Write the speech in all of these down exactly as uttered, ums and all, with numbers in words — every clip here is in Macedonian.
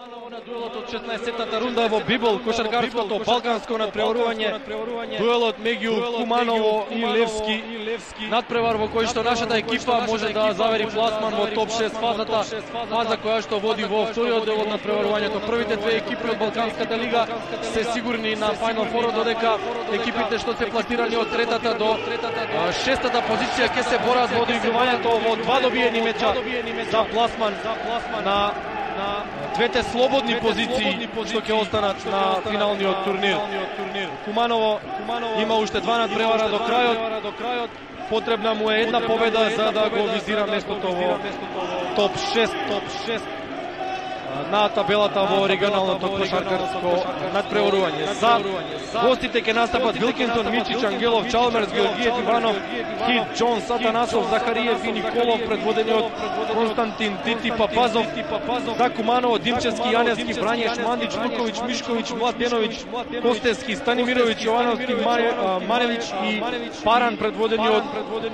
Куманово на дуелот од шеснаесеттата рунда во Бибол, кошаркарското балканско надпреварување. Дуелот меѓу Куманово и Левски. Надпревар во кој што нашата екипа може да завери пласман во топ шест фазата, фаза која што води во вториот дел од надпреварувањето. Првите две екипи од Балканската лига се сигурни на Final Four, додека екипите што се пласирани од третата до шестата позиција ќе се борат во одигрувањето во два добиени меча за пласман на двете слободни позиции што ќе останат на финалниот турнир. Куманово има уште два надпревара до крајот. Потребна му е една победа за да го визира местото во топ шест на табелата во регионалното кошаркарско надпреварување. За гостите ќе настапат Вилкинсон, Мичич, Ангелов, Чалмерс, Георгиев, Иванов, Хит, Джон, Сатанасов, Захариев и Николов, предводени од Константин Тити Папазов. За Куманово, Димчевски, Јаневски, Брањеш, Мандич, Луковиќ, Мишковиќ, Младеновиќ, Костевски, Станимировиќ, Јовановски, Маревиќ и Паран, предводени од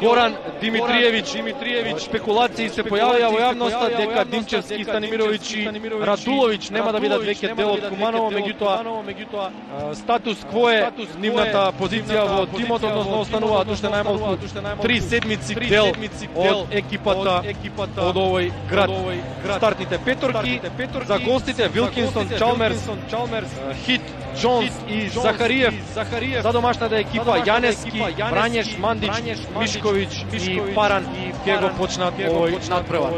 Горан Димитриевиќ. Спекулации се појавија во јавноста дека Димчевски, Станимировиќ и Радуловиќ нема да бидат веќе дел од Куманово, меѓутоа статус кво е нивната позиција во тимот, односно остануваат уште најмалку три седмици дел од екипата од овој град. Стартните петорки за гостите Вилкинсон, Чалмерс, Хит, Джонс и Захариев. За домашната екипа Јаневски, Брањеш, Мандич, Мишковиќ и Паран ќе го почнат овој надпревар.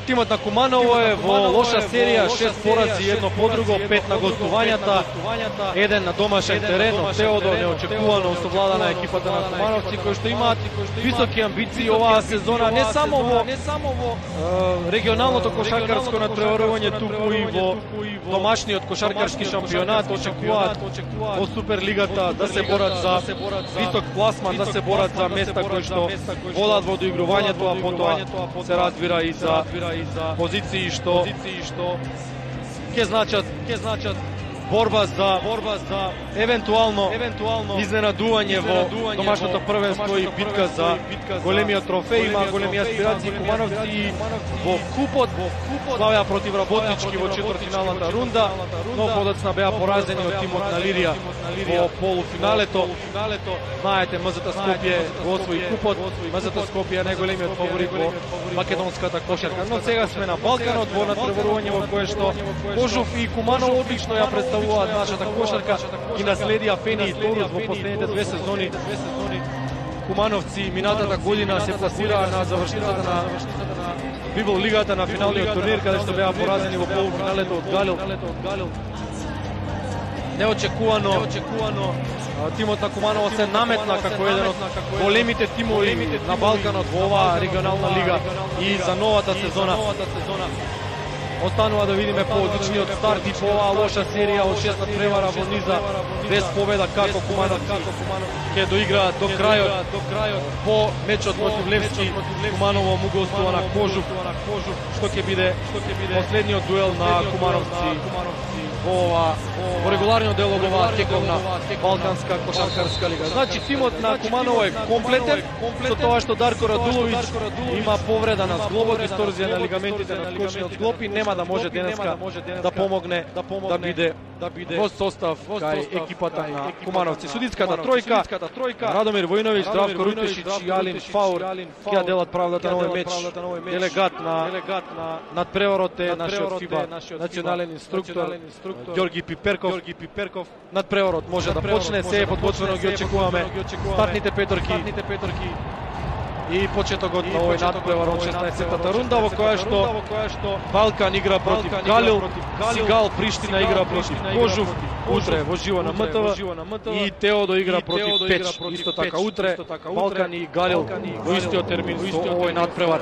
Тимот на Куманово е во лоша серија, шест порази, едно подруго, пет на гостувањата, еден на домашен терен. Од Теодо неочекувано осовлада на екипата на кумановци, кои што имаат високи амбиции оваа сезона, не само во регионалното кошаркарско надпреварување, туку и во домашниот кошаркарски шампионат. Очекуваат во Суперлигата да се борат за висок пласман, да се борат за места кои што водат во доигрувањето, а потоа се разбира и за позиции што ќе значат ќе значат борба за борба за евентуално евентуално изненадување во домашното првенство и битка за големиот трофеј. Има големи аспирации кумановци и во купот славеа против Работнички во четвртфиналната рунда, но подоцна беа поразени од тимот на Лирија во полуфиналето. Знаете, МЗТ Скопје го освои купот. МЗТ Скопје е најголемиот фаворит во македонската кошарка. Но сега сме на Балканот во надпреварување во кое што Кожув и Куманово одлично ја представуваат нашата кошарка, ги наследија Фени и Торус во последните две сезони. Кумановци минатата година се пласираа на завршницата на Бибол лигата на финалниот турнир, каде што беа поразени во полуфиналето од Галил. Неочекувано, неочекувано тимот на Куманово се наметна како еден од големите тимови на Балканот во оваа регионална лига и за новата сезона. Останува да видиме по-одличниот старт и по оваа лоша серија од шест надпревара во низа без победа, како Кумановци ќе доиграат до крајот. По мечот против Левски, Куманово му гостува на Кожув, што ќе биде последниот дуел на Кумановци во ова во регуларниот дел од оваа тековна балканска кошаркарска лига. Значи тимот на Куманово е комплетен, со тоа што Дарко Радуловиќ има повреда на зглобот, дисторзија на лигаментите на скочниот зглоб и нема да може денеска да помогне да биде во состав кај екипата на Кумановци. Судиската тројка, Радомир Војновиќ, Здравко Рутешиќ и Алин Фаур ќе делат правдата на овој меч. Делегат на надпреварот е нашиот ФИБА национален инструктор Ѓорги Пиперков. Надпреварот може да почне, се е подготвено, ги очекуваме стартните петорки и почетокот на овој надпревар од шеснаесеттата рунда, во која што Балкан игра против Галил, Сигал Приштина игра против Кожув, утре во живо на МТВ, и Теодо игра против Печ. Исто така утре Балкан и Галил во истиот термин со овој надпревар.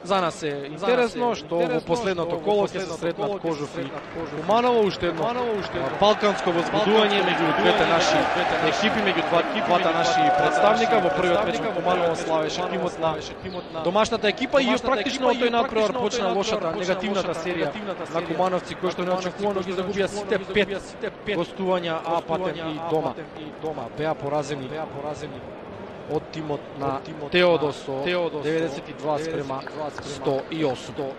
За нас е интересно што во последното коло ќе се сретнат Кожув и Куманово, уште едно балканско возбудување меѓу двете наши екипи, меѓу двата наши представника. Во првиот меч Куманово славеше тимот на домашната екипа и практично од тој надпревар почна лошата, негативната серија на кумановци кои што неочекувано ги загубија сите пет гостувања, а патем и дома. Беа поразени од тимот на Теодосо, деветдесет и два спрема сто и осум.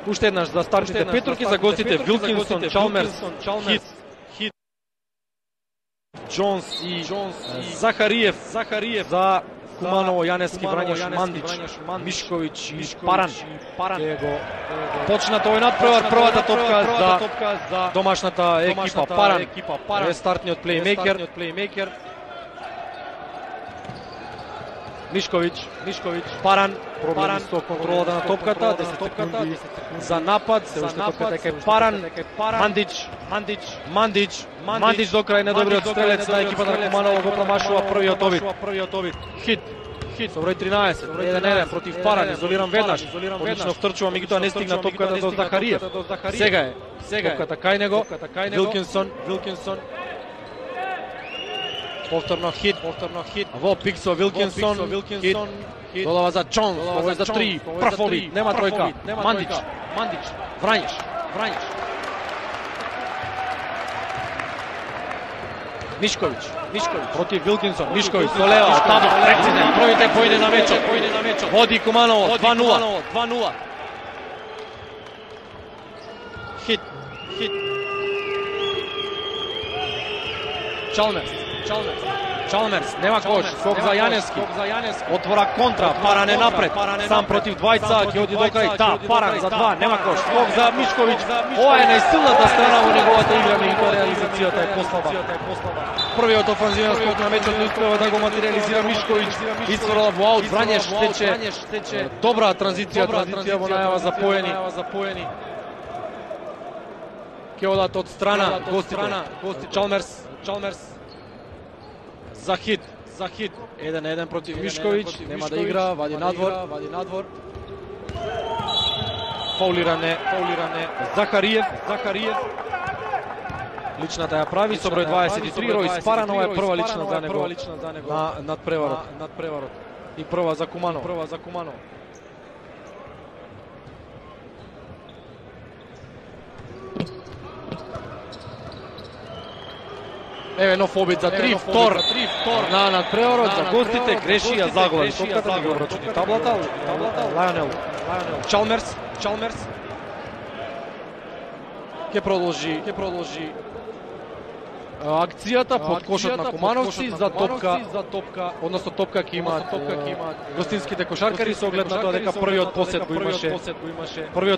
Уште еднаш за стартните петорки, за гостите Вилкинсон, Чалмерс, Хит, Джонс и Захариев, за Куманово, Јанески, Врањеш, Мандич, Мишковиќ и Паран. Почна тој надпревар, првата топка за домашната екипа Паран. Е стартниот плеймейкер. Мишковиќ, Паран, проблеми со контролата на топката, десет секунди за напад, се уште топката дека е Паран, Мандич, Мандич до крај недобриот стрелец на екипата на Куманово го промашува првиот обид. Хит, со број тринаесет, еден еден против Паран, изолиран веднаш, одлично втрчува, меѓутоа не стигна топката до Захариев. Сега е, топката кај него, Вилкинсон, повторно Хит, во пик со Вилкинсон, Хит, додава за Джонс, ово е за три, прв обид, нема тројка, Мандич, Врањеш, Мишковиќ, против Вилкинсон, Мишковиќ со лева, табло, прецизен, првите поиде на мечот, води Куманово, два нула. Хит, Чалмерс, нема кош, скок за Јанески, отвора контра, Паран е напред, сам против двајца, ќе оди до крај, та, Паран за два, нема кош, скок за Мишковиќ, ова е најсилната страна во неговата игра, меѓутоа реализацијата е послаба. Првиот офанзивен скок на мечот не успева да го материализира Мишковиќ, исфрла во аут, Врањеш стече добра транзиција, транзиција во најава за поени. Ќе одат од страна гостите, Чалмерс, за Хит, еден еден против Мишковиќ, нема да игра, вади надвор. Фаулиране, Захариев. Личната ја прави со број дваесет и три, Ројс Паран, ова е прва лична за него на надпреварот. И прва за Куманово. Еве нов обид за три, втор на надпреварот за гостите, греши ја заглави топката, да ги обрачути таблата, Лајонел, Чалмерс, ќе продолжи акцијата под кошот на кумановци за топка, односно топка ќе имаат гостинските кошаркари со оглед на тоа дека првиот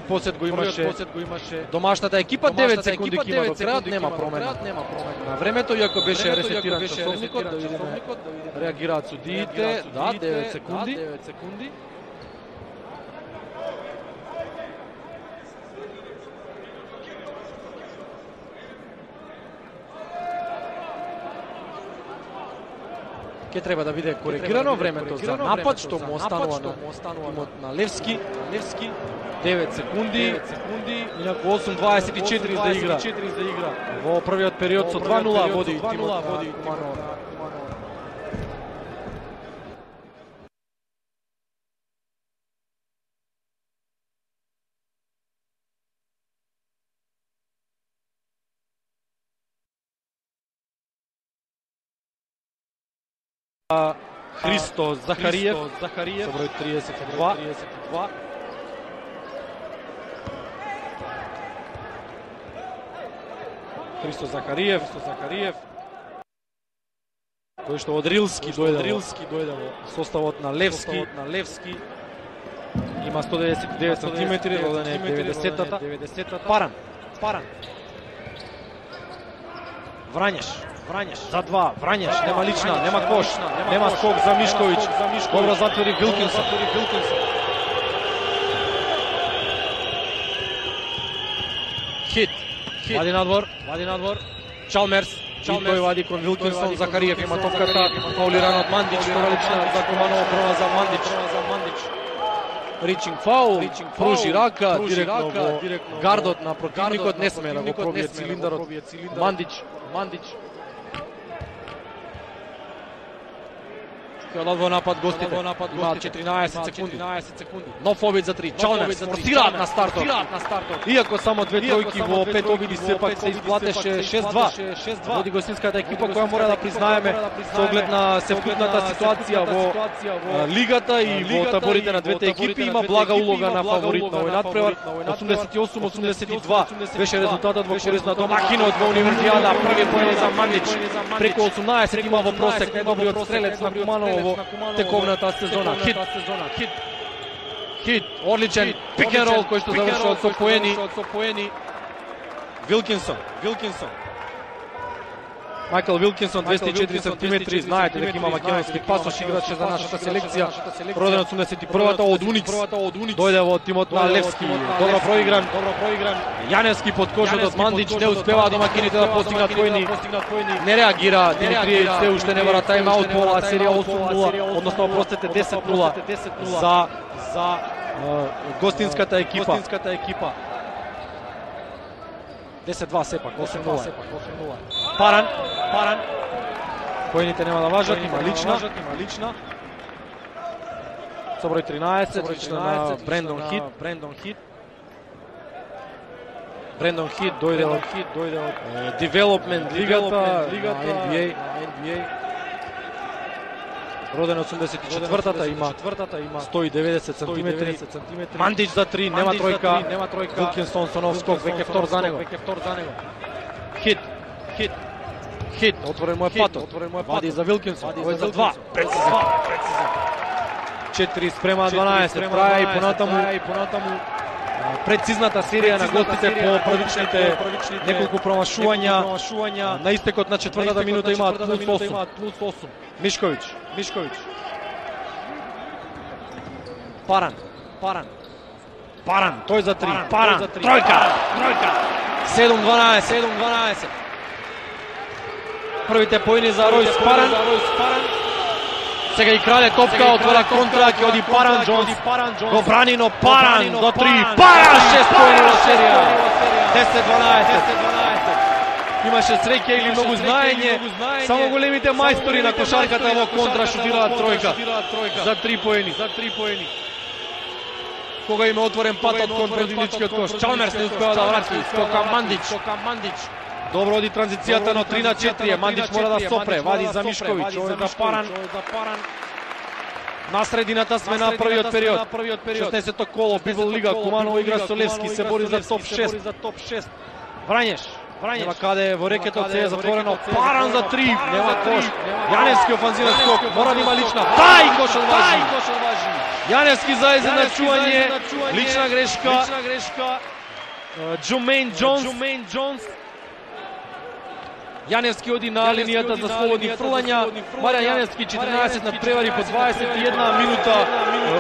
посет го имаше домашната екипа, девет секунди ќе има до крајот, нема промена на времето, иако беше ресетиран часовникот, да видиме реагираат судиите, да, девет секунди. Ке треба да биде коригирано времето за напад, што му останува на тимот на Левски. девет секунди, инаку осум дваесет и четири за игра. Во првиот период со два нула води тимот на Куманово. Христо Захариев со број триесет и два. Христо Захариев, кој што од Рилски дојде во составот на Левски. Има сто деветдесет и девет сантиметри, роден е деветдесетата. Паран. Врањеш за два, Врањеш, нема лична, нема кош, нема скок за Мишковиќ. Добро затвори Вилкинсон. Хит Вади надвор, вади надвор. Чалмерс, и тој вади кон Вилкинсон, Захариев има топката, фаулиран од Мандич, прва лична за Куманово, прва за Мандич. Ричинг фаул, пружи рака, директно во гардот на противникот, не сме да го пробие цилиндарот. Мандич, Мандич. Ќе во напад гостите, имаат четиринаесет секунди. Нов обид за три, Чалмерс форсираат на стартот. Иако само две тројки во пет обиди сепак се изплатеше шест-два. Води гостинската екипа која мора да признаеме со оглед на севкупната ситуација во лигата и во таборите на двете екипи има блага улога на фаворит на овој надпревар. осумдесет и осум осумдесет и два беше резултатот во корист на домакинот во Универзијада. Први поен за Мандич, преку осумнаесет има во просек, најдобриот стрелец на Куманово во тековната сезона. Хит, хит, хит, одличен пик-н-рол кој што завршува со поени. Вилкинсон, Вилкинсон. Майкл Вилкинсон, двесте и четири сантиметри, знаете дека има македонски пасош, играче за нашата селекција, роден осумдесет и првата од Уникс, дојде во тимот на Левски, добро проигран, Јаневски под кожот од Мандич, не успеваа домакините да постигнат поени, не реагира, Димитриевич се уште не бара тайм-аут по оваа серија осум нула, односно опростете десет нула за за гостинската екипа. десет-два сепак, осум нула. Паран, Паран. Поените нема да важат, има лична, има лична. Со број тринаесет, лична на Брендон Хит, Брендон Хит. Брендон Хит дојде од Хит, дојде од Development лигата, лигата на Н Б А. Роден осумдесет и четвртата, има сто и деветдесет сантиметри. Мандич за три, нема тројка. Вилкинсон со нов скок, веќе втор за него. Хит, Хит, Хит, отворен му е патот. Вади за Вилкинсон, овој за два. Прецизен. четири спрема дванаесет. Траја и понатаму прецизната серија на гостите по првичните неколку промашувања. На истекот на четвртата минута имаат плюс осум. Мишковиќ, Мишковиќ. Паран, Паран. Паран, тој за три. Паран, тројка, тројка. седум дванаесет, седум дванаесет. Првите поени за Ројс Паран. Сега и крале топка, отвора контра, ќе оди Паран Џонс. Го брани, но Паран за три. Паран, шест поени во серија. десет дванаесет. Имаше среќа или многу знаење. Само големите мајстори на кошарката во контра шутираат тројка. За три поени. Кога има отворен патот кон противничкиот кош. Чалмерс не успева да врати. Скока Мандич. Добро оди транзицијата, но три на четири. Мандич мора да сопре. Вади за Мишковиќ. Овој за Паран. На средината сме на првиот период. шеснаесетто коло, Библ лига. Куманово игра со Левски. Се бори за топ шест. Врањеш. Нема каде, во рекетот се е затворено. Паран за три. Нема кош. Јаневски офанзивен скок. Мора да има лична. Тај кош одважи. Јаневски за изедначување. Лична грешка. Джумейн Џонс. Јаневски оди на линијата за слободни фрлања. Маријан Јаневски четиринаесет надпревари по дваесет и една минута.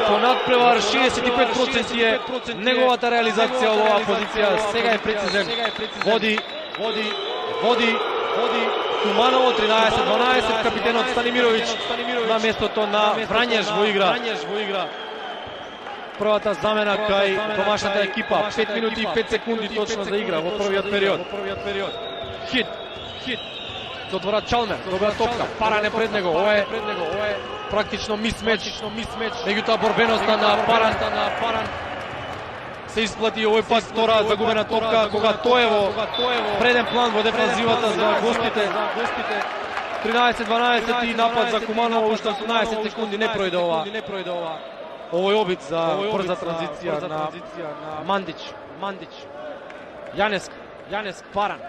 По надпревар шеесет и пет проценти е неговата реализација во оваа позиција. Сега е прецизен. Води, води, води, води. Куманово тринаесет дванаесет, капитенот Станимировиќ на местото на Врањеш во игра. Првата замена кај домашната екипа. пет минути и пет секунди точно за игра во првиот период. Хит. Хит. Затвора Чалмер, добра топка, Паран е пред него, ова е практично мисмеч, меѓутоа борбеноста на Паран се исплати овој пат втора загубена топка, кога тој е во преден план во дефанзивата за гостите. тринаесет дванаесет и напад за Куманово, уште осумнаесет секунди не пројде ова. Овој обид за брза транзиција на Мандич. Јаневски, Паран.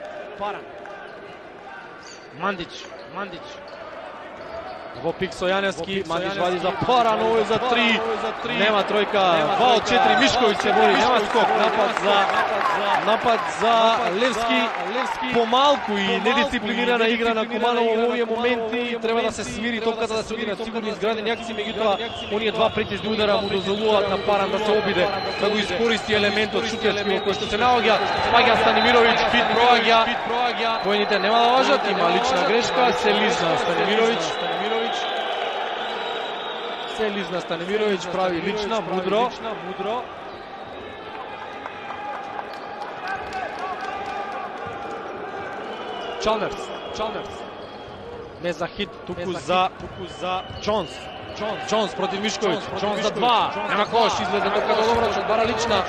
Мандич, Мандич. Во пик со Јаневски, Мандич вади за Паран, овој за три, нема тројка, два од четири, Мишковиќ се бори, нема скок, напад за напад за Левски, помалку и недисциплинирана игра на Куманово во овие моменти, треба да се смири топката, да се оди на сигурни изградени акции, меѓутоа оние два претежни удара му дозволуваат на Паран да се обиде, да го искористи елементот шутерски во кој што се наоѓа, спаѓа Станимировиќ, Фит проаѓа, поените нема да важат, има лична грешка, се лизна Станимировиќ, се лизна Станимировиќ, прави лична, мудро, мудро. Чалмерс, Чалмерс. Не за хит, туку за туку за Джонс. Джонс, Джонс против Мишковиќ, Джонс за два. Нема кош, излезе топката добро, што бара лична.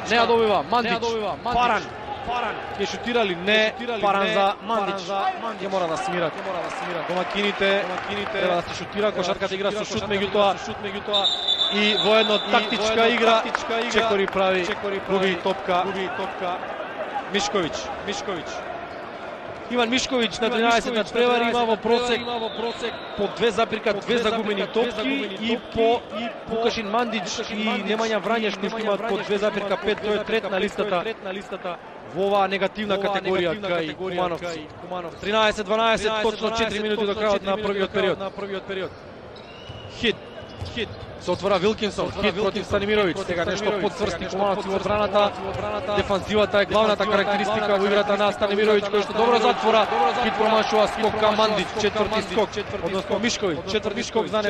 Не ја добива, Мандич. Паран. Паран. Ке шутирали, не, Паран за Мандич. Ќе мора да смират, ќе мора да смират. Домакините, домакините треба да се шутира, кошарката игра со шут, меѓутоа, шут меѓутоа и во една тактичка игра, Чекори прави, губи топка, губи топка. Мишковиќ, Мишковиќ. Иван Мишковиќ на тринаесет надпревари, има во просек по две запирка две загубени топки и по Вукашин Мандич и Немања Врањеш кои имаат по две запирка пет, тој е трет на листата во оваа негативна категорија кај Кумановци. тринаесет дванаесет, точно четири минути до крајот на првиот период. Хит, хит. Се отвора Вилкинсон, хит против Станимировиќ, сега нешто подцврсти Кумановци во одбраната. Дефанзивата е главната карактеристика во играта на Станимировиќ, кој што добро затвора. Хит промашува скок кај Мандич, четврти скок, односно Мишковиќ, четврти скок за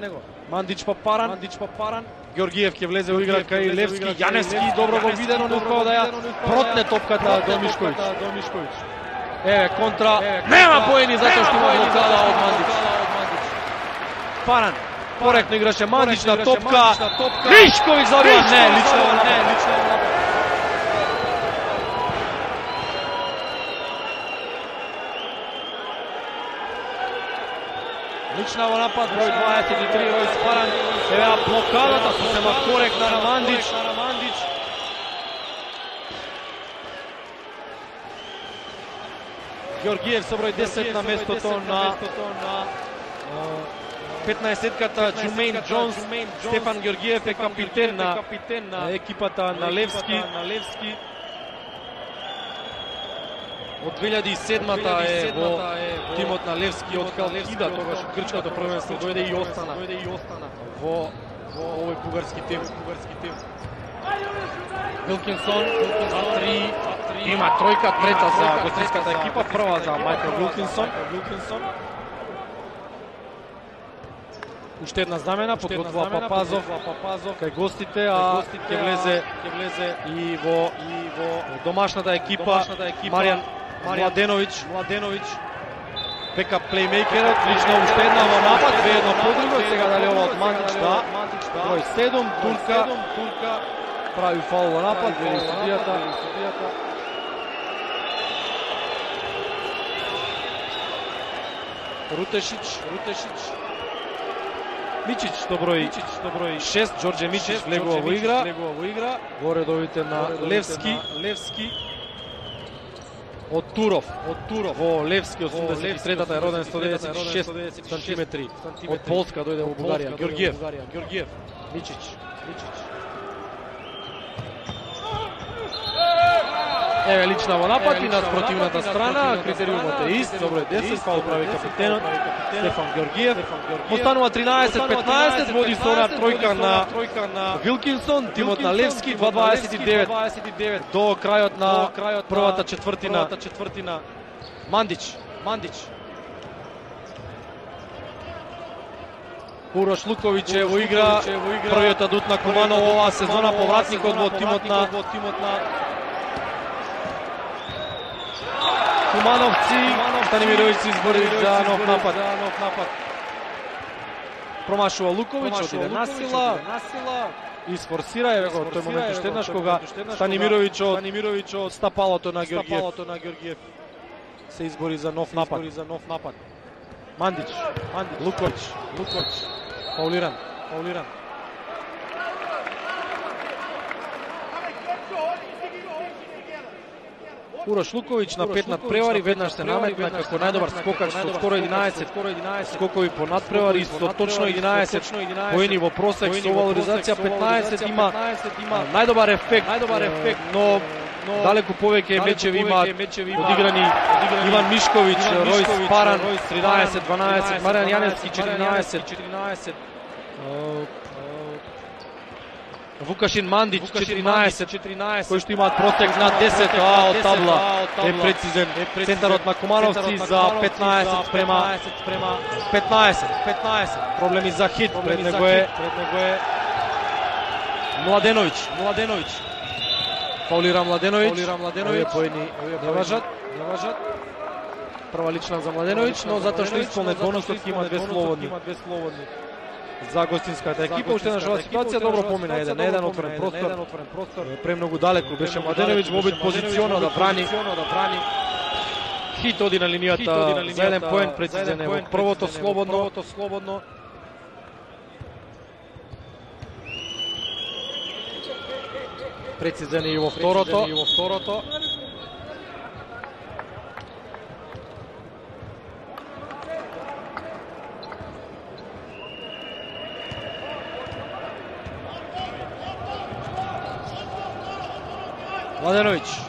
него. Мандич па Паран, Мандич па Паран. Георгиев ќе влезе во игра кај Левски, Јаневски добро го видено, не успеа да ја протне топката до Мишковиќ. Еве контра, нема поени затоа што има блокада од Мандич. Паран. Коректно играше Мандич на топка. Мишковиќ забива, не, лично не, лично Лична во напад, број дваесет и три, Ројс Паран. Еве блокадата сосема коректна на Мандич. Георгиев со број десет на местото на петнаесетката Джумейн Джонс. Стефан Георгиев е капитен на екипата на Левски. Од две илјади и седмата е во тимот на Левски, од Халкида, тогаш грчкото првенство дојде и остана во овој бугарски тим. Вилкинсон за три, има тројка, трета за гостинската екипа, прва за Мајкл Вилкинсон. Уште една замена, подготвува Папазов кај гостите, а ќе влезе и во домашната екипа Маријан Младеновиќ. Бекап плеймейкерот, лично уште една во напад, две едно по друго, сега дали ова од Мандич, да. Број седум, Турка, прави фаул во напад, вели судијата. Рутешич, Рутешич. Мичич до број шест, Џорџе Мичич влегува во игра. Во редовите на Левски. Од Туров, во Левски, осумдесет и третата е роден, сто деветдесет и шест сантиметри. Од Полска дојде во Бугарија. Георгиев. Мичич. Еве лична во напад и на спротивната страна, критериумот е ист, добро е десет, фаул прави капитенот Стефан Георгиев. Останува тринаесет петнаесет, води со она тројка на Вилкинсон, тимот на Левски, два дваесет и девет до крајот на првата четвртина. Мандич. Урош Луковиќ е во игра, првиот адут на Куманово оваа сезона, повратникот во тимот на Кумановци. Станимировиќ се избори за нов напад. Промашува Луковиќ, отиде насила, изфорсира, еве го тој момент уште еднаш кога Станимировиќ од стапалото на Георгиев се избори за нов напад. Мандич, Луковиќ, фаулиран. Урош Луковиć на пет надпревари, веднаш се наметна како најдобар скокач со скоро единаесет скокови по надпревари, со точно единаесет поени во просек, со валоризација петнаесет има најдобар ефект, најдобар ефект, но далеку повеќе мечеви имаат одиграни Иван Мишковиć, Ројс Паран тринаесет дванаесет, Маријан Јаневски четиринаесет, Вукашин Мандиć четиринаесет, кои што имаат просек над десет, а од табла е прецизен центарот на Кумановци за петнаесет спрема петнаесет. Проблеми за хит, пред него е Младеновиć. Фаулира Младеновиć, овие поени не важат. Прва лична за Младеновиć, но затоа што исполнет бонусот има две слободни. За гостинската екипа, уште една жива ситуација, добро помина еден на еден, отворен простор, премногу далеку беше Младеновиć во обид позициона да брани. Хит оди на линијата за еден поен, прецизен е во првото слободно. Прецизен е и во второто.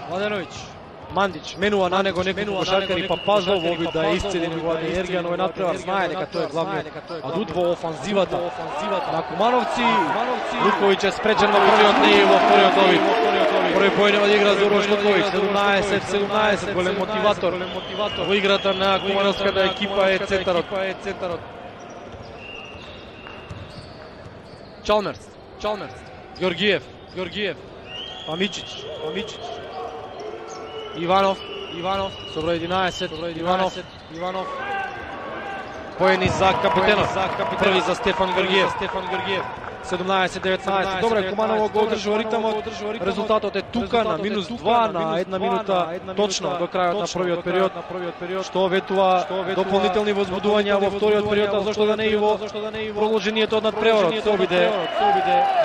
Младеновиć, Мандиć менува на него неколку кошаркари, па Пазлов во обид да исцели неговата енергија, но е надпревар, знае дека тој е главниот адут во офанзивата на Кумановци. Луковиć е спречен во првиот, не и во вториот обид. Први поен од игра за Урош Луковиć, седумнаесет седумнаесет, голем мотиватор во играта на кумановската екипа е центарот. Чалмерс, Георгиев, Амичиć, Иванов, со број единаесет, Иванов, поени за капитенот, први за Стефан Георгиев, седумнаесет деветнаесет. Добре, Куманово го одржува ритмот, резултатот е тука на минус два на една минута точно до крајот на првиот период, што ветува дополнителни возбудувања во вториот период, а зашто да не и во продолжението од надпреварот. Се обиде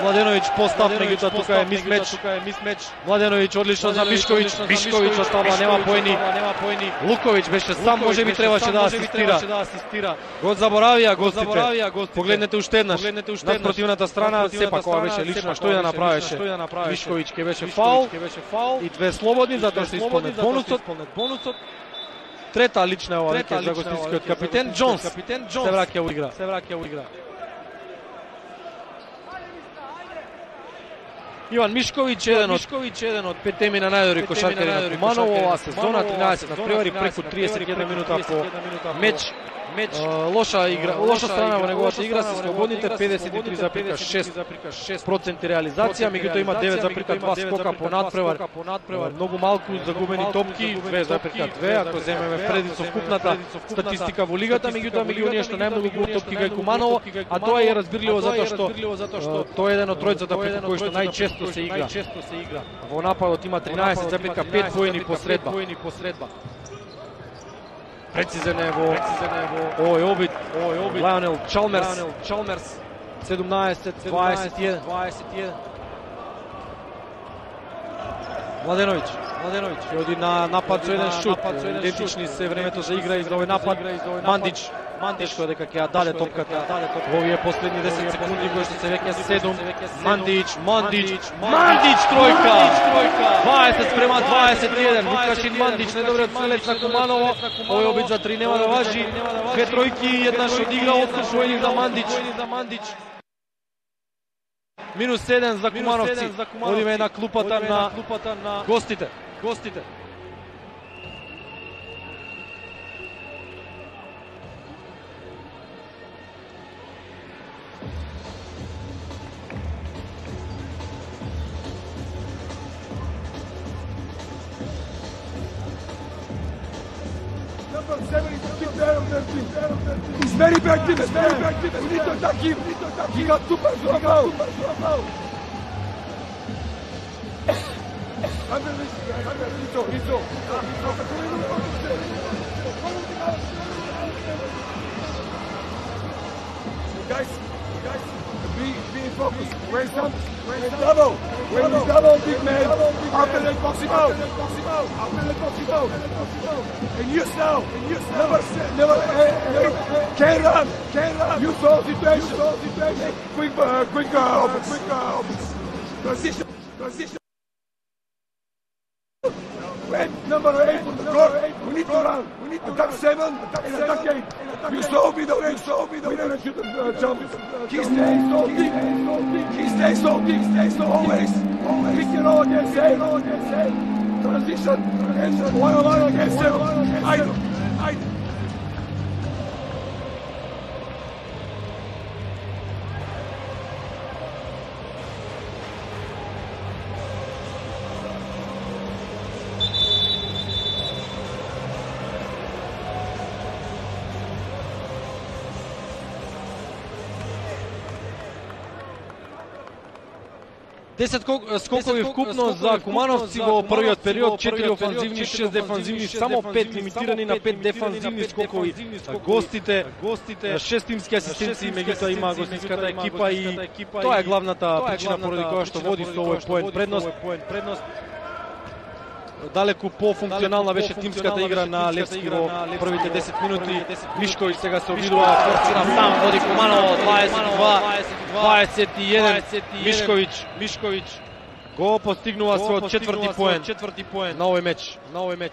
Младеновиć постав, меѓутоа тука е мисмеч. Младеновиć одлично за Мишковиć, од табла нема поени. Луковиć беше сам, можеби требаше да асистира. Го заборавија гостите. Погледнете уште еднаш на спротивната страна, сепак ова беше лично, што и да направеше. Мишковиć ке беше фаул и две слободни, затоа што исполнет бонусот. Трета лична ова веќе за гостинскиот капитен. Джонс се враќа во игра. Иван Мишковиć, еден од петте на најдобри кошаркари на Куманово оваа сезона, тринаесет надпревари, преку триесет и една минута по меч. Лоша игра, лоша страна во неговата игра се слободните, педесет и три зарез и шест проценти реализација, меѓутоа има девет зарез и два скока по надпревар. Многу малку загубени топки, две зарез и две, ако земеме преди совкупната статистика во лигата, меѓутоа меѓу оние што најмногу губат топки кај Куманово, а тоа е разбирливо затоа што тоа е еден од тројцата преку кој што најчесто се игра. Во нападот има тринаесет зарез и пет поени по средба. Прецизен е во овој обид Лајонел Чалмерс, седумнаесет дваесет и еден. Младеновиć ќе оди на напад со еден шут, идентични се времето за игра и за овој напад. Мандиć, тешко дека ќе ја даде топката во овие последни десет секунди, кои што се веќе седум. Мандиć, тројка, дваесет спрема дваесет и еден. Вукашин Мандиć, недобриот стрелец на Куманово, овој обид за три нема да важи. Две тројки, еднаш од игра, осум поени за Мандиć. Минус еден за Кумановци. Одиме на клупата на гостите. He's very bad in this man. We need to attack him. He got super foul. Guys, guys, be, be focused. When some, when double, when we double big man, after the box him out, after the box him out, and you now, and you never, never, never, can run, can run. You saw situation, situation. Quick, uh, quick, uh, quick, uh, transition, transition. When number eight on the court, we need to run. We need to attack seven, and attack eight. You saw me the way, saw me the way. We should have jumped. He stays so deep, he stays so deep, he stays so always. Pick it all against eight, all against eight. Transition, transition, one on one against seven. I do, I do. десет скокови вкупно за Кумановци во првиот период, четири офанзивни, шест дефанзивни, само пет лимитирани на пет дефанзивни скокови. Гостите, гостите, шест тимски асистенции, меѓутоа има гостинската екипа и тоа е главната причина поради која што води со овој поен предност. Далеку по-функционална беше тимската игра на Левски во првите десет минути. Мишковиќ сега се обидува, форсира сам, води Куманово, дваесет и два, дваесет и еден. Мишковиќ, Мишковиќ го постигнува својот четврти поен, четврти поен на овој меч, на овој меч.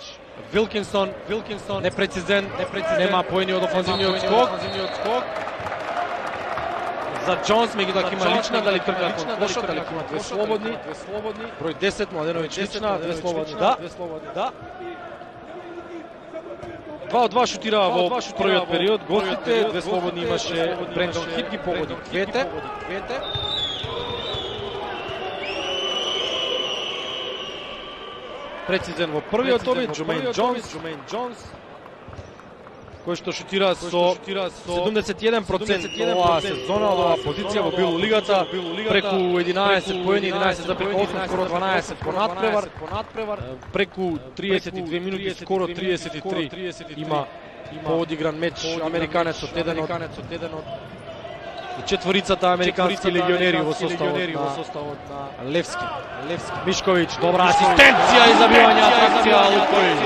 Вилкинсон, Вилкинсон непрецизен, непрецизен, нема поени од офанзивниот скок. За Джонс, меѓутоа ќе има лична, дали трка кон кошот, дали ќе има две слободни, две слободни. Број десет, Младеновиќ лична, две слободни, да, две слободни, да. Два од два шутираа во првиот период, гостите, две слободни имаше Брендон Хит, ги погоди двете. Прецизен во првиот обид, Джумейн Джонс, Джумейн Джонс, кој што шутира со седумдесет и еден процент оваа сезона од оваа позиција во Билу лигата, преку единаесет поени, единаесет запир осум, скоро дванаесет по надпревар, преку триесет и две минути, скоро триесет и три има поодигран меч американецот, еден од четворицата американски легионери во составот на Левски. Мишковиќ, добра асистенција и забивање, атракција Луковиќ.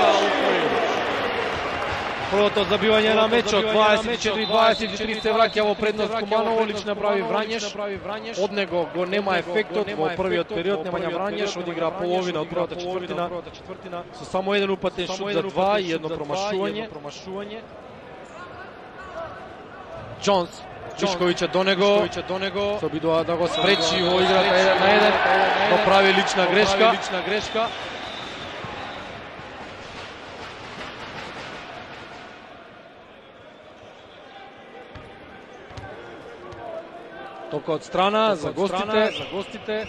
Првото забивање на мечот, дваесет и четири дваесет и три се враќа во предност Куманово, лично прави Врањеш. Од него го нема ефектот во првиот период, Немања Врањеш одигра половина од првата четвртина со само еден упатен шут за два и едно промашување. Джонс, Мишковиќ до него, се обидува да го спречи во играта еден на еден, но прави лична грешка. Тока од страна за гостите.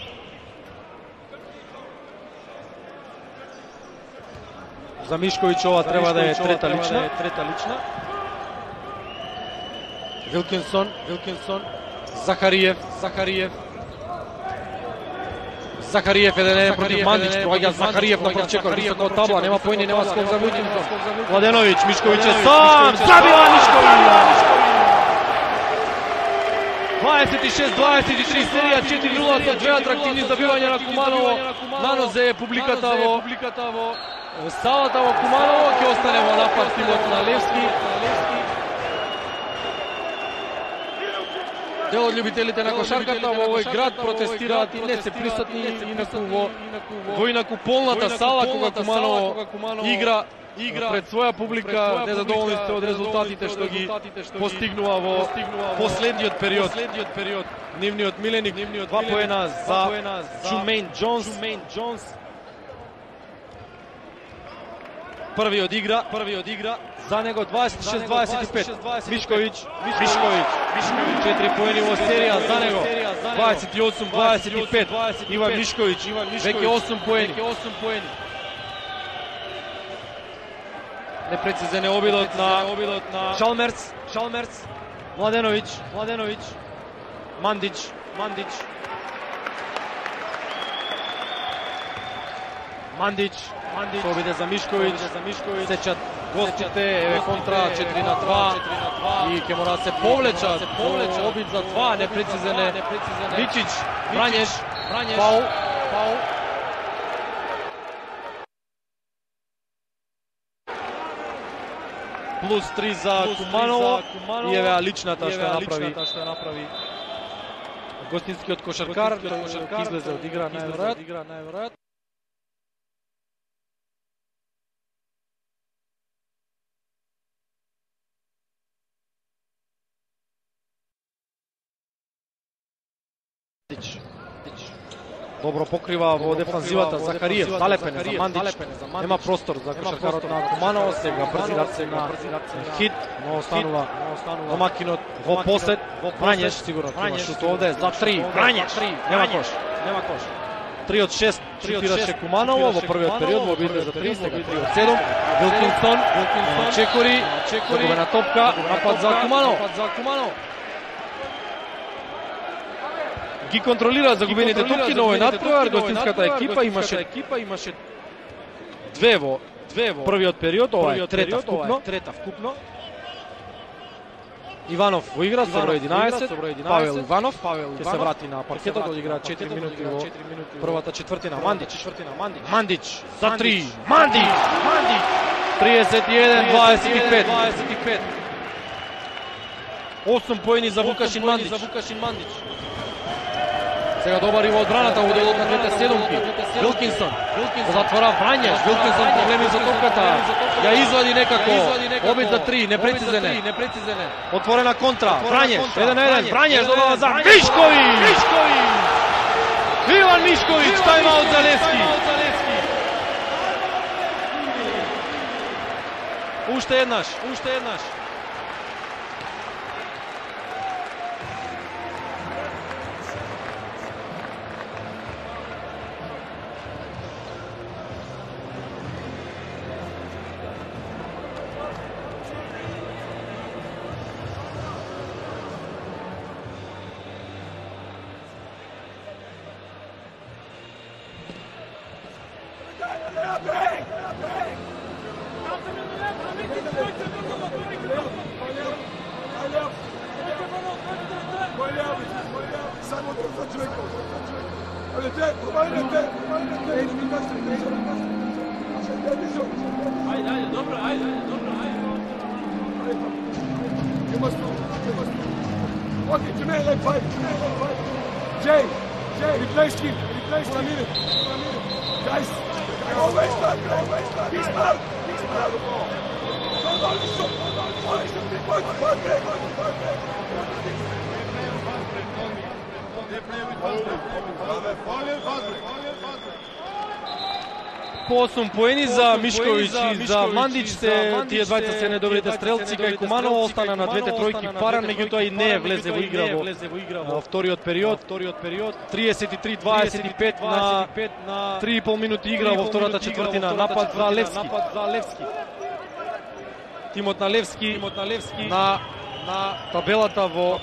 За Мишковиќ ова треба да е трета лична. Вилкинсон, Вилкинсон, Захариев, Захариев. Захариев еден еден против Мандич, доаѓа Захариев на првчекор, високо од табла, нема поени, нема скок за Вилкинсон. Младеновиќ, Мишковиќ е сам, забива Мишковиќ. дваесет и шест дваесет и три серија, четири нула со две атрактивни забивања на Куманово. Нанозе публиката во салата во Куманово, ќе остане во напад тимот на Левски. Дел од љубителите на кошарката во овој град протестираат и не се присутни инаку во инаку полната сала кога Куманово игра пред своја публика, незадоволни сте од резултатите што ги постигнува во последниот период. Нивниот миленик, два поена за Джумейн Джонс. Први од игра, први од игра. За него дваесет и шест дваесет и пет. Мишковиќ, Мишковиќ. четири поени во серија за него. дваесет и осум дваесет и пет. Иван Мишковиќ, веќе осум поени. Непрецизен е обидот на Чалмерц, Чалмерц. Младеновиќ, Младеновиќ. Мандич, Мандич. Мандич, Мандич. Победа за Мишковиќ, сечат гостите, еве контра четири на два. и ќе мора да се повлечат, повлеча обид за два, непрецизен Мичич, Врањеш, фаул, фаул. Плюс три за Куманово и еве личната што ја направи гостинскиот кошаркар, тој излезе од игра најверојатно. Добро покрива во дефанзивата Захариев, залепен за Мандич, нема простор за кошаркарот на Куманово, сега брзираце на хит, но останува домакинот во посет, Врањеш, сигурно има шут овде, за три, Врањеш, нема кош, нема кош. три од шест шутираше Куманово во првиот период, во обидне за три, сега три од седум, Вилкинсон, Чекори, загубена топка, напад за Куманово. Ги контролира загубените топки, но овој надпревар гостинската екипа имаше две во првиот период, ова е трета вкупно. Иванов во игра со број единаесет, Павел Иванов ќе се врати на паркетот, одигра четири минути во првата четвртина. Мандич за три, Мандич, триесет и еден дваесет и пет. осум поени за Вукашин Мандич. Сега добар и во одбраната во делот на двете седумки. Вилкинсон го затвора Врањеш. Вилкинсон проблеми за топката. Ја извади некако. Обид за три, непрецизен. Отворена контра. Врањеш, еден на еден. Врањеш додава за Мишковиќ. Иван Мишковиќ, тајмаут за Левски. Уште еднаш, уште еднаш. По осум поени за Мишковиќ и за Мандич, тие двајца се недобрите стрелци, кај Куманово остана на двете тројки паран, меѓутоа и не влезе во игра во вториот период. триесет и три дваесет и пет на три и пол минути игра во втората четвртина. Напад за Левски. Тимот на Левски на табелата во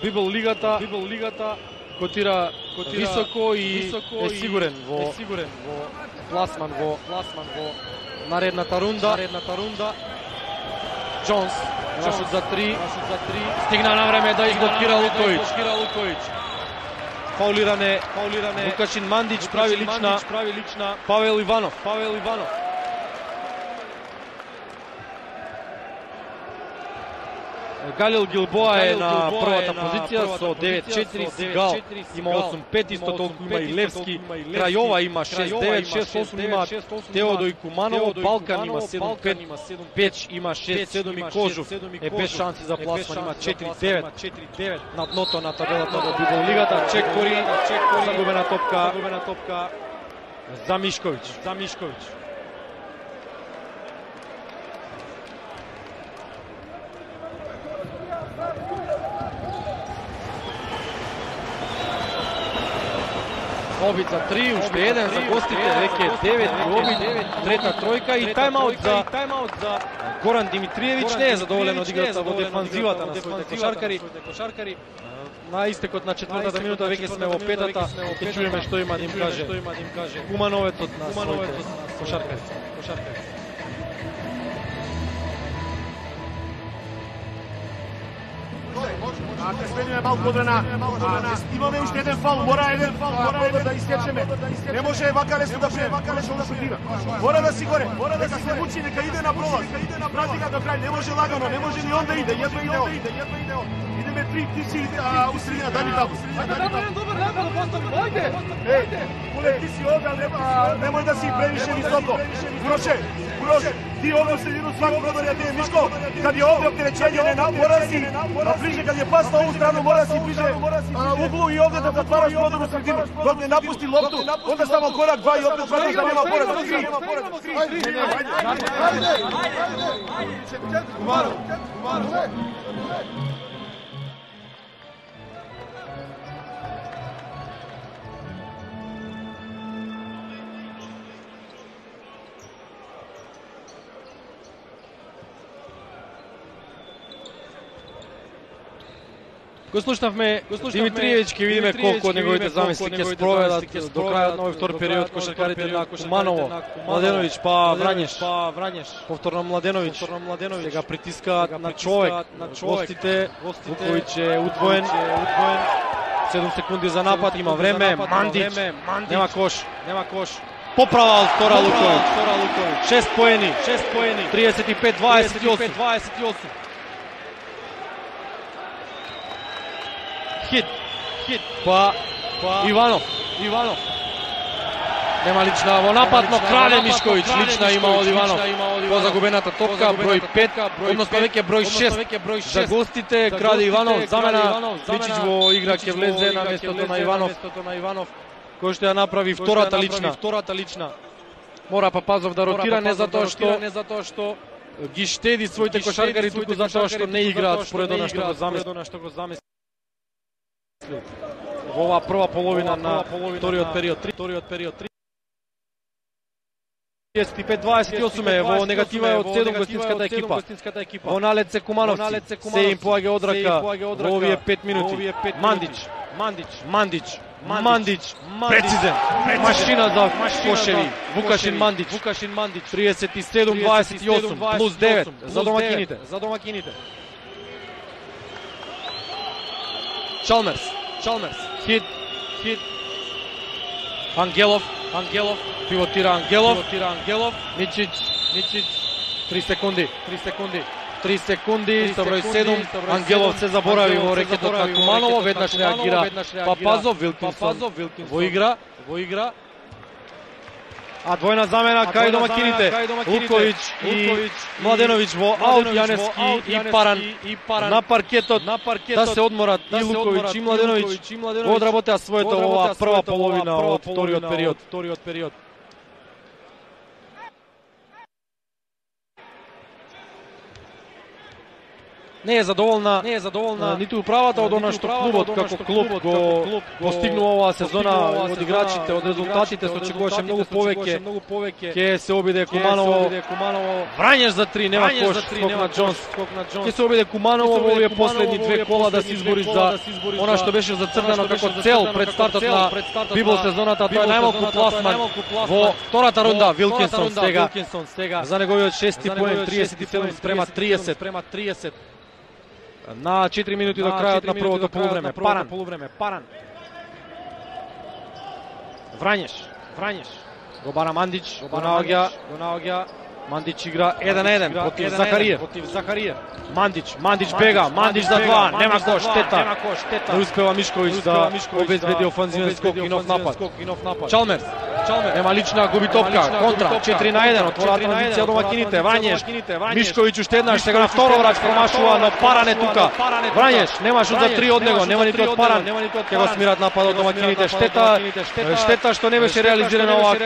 Библ лигата котира високо и е сигурен во пласман во наредната рунда. Джонс, шут за три, стигна на време да изблокира Лукојич. Фаулиране, Вукашин Мандич прави лична, Павел Иванов. Галил Гилбоа е на првата позиција со девет четири, Сигал има осум пет, исто толку има и Левски, Крајова има шест девет, шест осум има Теодо и Куманово, Балкан има седум пет, Печ има шест седум и Кожув е без шанси за пласман, има четири девет на дното на табелата во Библ лигата. Чекори, загубена топка за Мишковиќ. Обид за три, уште еден за гостите, веќе девет обид, трета тројка и тајмаут за Горан Димитриевиќ. Не е задоволен од играта во дефанзивата на своите кошаркари. На истекот на четвртата минута веќе сме во петата, ќе чуеме што има да им каже Кумановецот на своите кошаркари. Ќе смениме малку одбрана. Имаме уште еден фал, мора еден фал, мора да истечеме. Не може вака лесно да пре, вака лесно да шутира. Мора да си горе, мора да се мучи, нека иде на пролаз, иде на пролаз до крај, не може лагано, не може ни он да иде, едно иде он. Идеме три, ти си у средина, дај ми табу. Добар напад, постави, ајде. Е, Куле, ти си овде, немој да си превише високо. Уроше, Уроше, ти овде средину свак пробари, а ти е Мишко. Кад е овде оптеречење, не мора да си, а ближе, кад е пас на ову страну, мора да си ближе углу и овде да затвараш продору средину. Док не напусти лопту, овде само корак, два и опет свараш да нема поред. Ајде, ајде, Кумаро, Кумаро. Го слушнавме Димитриевич, ќе видиме колку од неговите замисли ќе спроведат до крајот на овој втор период кошаркарите на Куманово, Младеновиќ, па Врањеш, па Врањеш, повторно Младеновиќ, сега притискаат на човек, гостите, Вуковиќ е удвоен, седум секунди за напад, има време, Мандич, нема кош, нема кош. Поправа од втора Луковиќ, шест поени, триесет и пет дваесет и осум. Хит, хит, па, па, Иванов, Иванов. Нема лична во напад, но краде Мишковиќ, лична има од Иванов. По загубената топка, број пет, односно веќе број шест. За гостите краде Иванов, замена Мичич во игра ќе влезе на местото на Иванов, кој што ја направи втората лична. Мора Папазов да ротира, не затоа што ги штеди своите кошаркари, туку затоа што не играат според она што го замисли. Во оваа прва половина на вториот период, вториот период триесет и пет дваесет и осум е во негатива е од седум гостинската екипа. Во налет се Кумановци, се им поаѓа одрака во овие пет минути. Мандич, Мандич, Мандич, Мандич, прецизен, машина за кошеви. Вукашин Мандич, триесет и седум дваесет и осум плюс девет за домакините. Чалмерс, Чалмерс, хит, хит. Ангелов, Ангелов, пивотира Ангелов, пивотира Ангелов. Мичич, Мичич. три секунди, три секунди. три секунди, со број седум. Ангелов се заборави во рекетот на Куманово, веднаш реагира Папазов, Вилкинсон во игра, во игра. А двојна замена кај домакините, Луковиќ и Младеновиќ во аут, Јанески и Паран на паркетот, да се одморат и Луковиќ и Младеновиќ, одработеа своето ова прва половина од вториот период. Не е задоволна, не е задоволна ниту управата од она што клубот како клуб го постигнува оваа сезона од играчите, од резултатите, со очекуваше многу повеќе. Ќе се обиде Куманово, Врањеш за три, нема кош, скок на Џонс. Ќе се обиде Куманово во овие последни две кола да се избори за она што беше зацртано како цел пред стартот на Библ сезоната, тоа е најмалку пласман во втората рунда. Вилкинсон сега за неговиот шести поен, триесет и седум спрема триесет. На четири минути до крајот на првото полувреме. Паран. Врањеш. Врањеш. Го бара Мандич, го наоѓа. Мандич игра еден на еден против Захариев. Мандич, Мандич бега, Мандич за два, нема кош, штета. Не успева Мишковиќ да обезбеди офанзивен скок и нов напад. Чалмерс, нема лична, губи топка, контра, четири на еден, отвора транзиција домакините, Врањеш. Мишковиќ уште еднаш, сега на второ врач промашува, но Паран е тука. Врањеш, нема шут за три од него, нема ниту од Паран. Ќе го смират нападот домакините, штета, штета што не беше реализирана оваа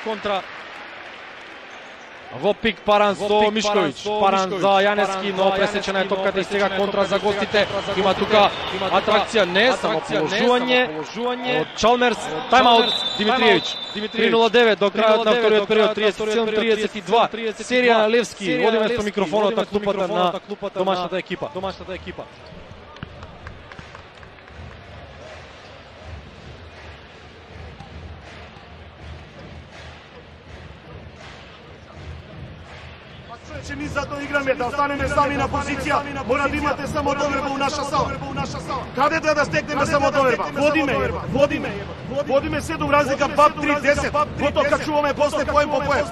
контра. Во пик Паран со Мишковиќ, Паран за Јанески, но пресечена е топката и сега контра за гостите. Има тука атракција, не само положување од Чалмерс. Тайм-аут Димитриевич. три нула девет до крајот на вториот период, триесет и седум триесет и два. Серија на Левски, водиме со микрофонот на клупата на домашната екипа. Значи ми затоа играме да останеме сами на позиција. Мора да имате самодоверба у наша сала. Каде да да стекнеме самодоверба? Водиме, водиме. Водиме седум разлика, два три десет. Потоа качуваме после поем по поем.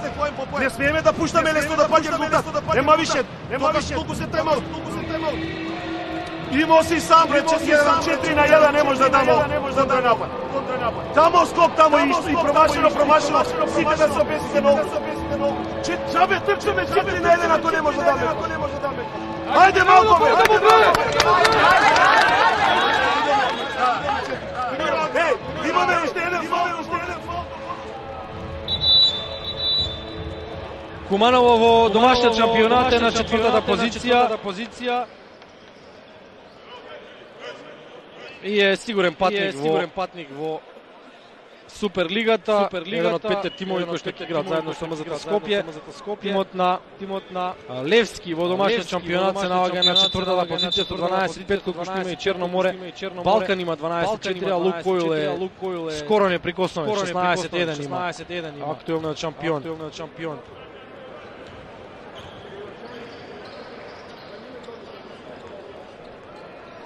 Не смееме да пуштаме лесно да паѓа резултат. Нема више, нема више. Толку се тремал, толку се тремал. Имao си сам пред четири на еден, не може да дамо контранапад. Тамо скок, тамо и промашено, промашено. Сите да се обесите ногу. Чабе, трчаме четири на еден, ако не може да даме. Ајде малко, бе! Еј, имаме уште еден фол, уште еден фол. Куманово во домашниот шампионат е на четвртата позиција. И е сигурен патник, сигурен патник во Суперлигата, еден од петте тимови кои што ќе играат заедно со МЗТ Скопје. Тимот на тимот на Левски во домашниот шампионат се наоѓа на четвртата позиција со дванаесет пет, колку што има и Черно море. Балкан има дванаесет четири, а Лукойл е скоро неприкосновен, шеснаесет еден има. Актуелниот шампион.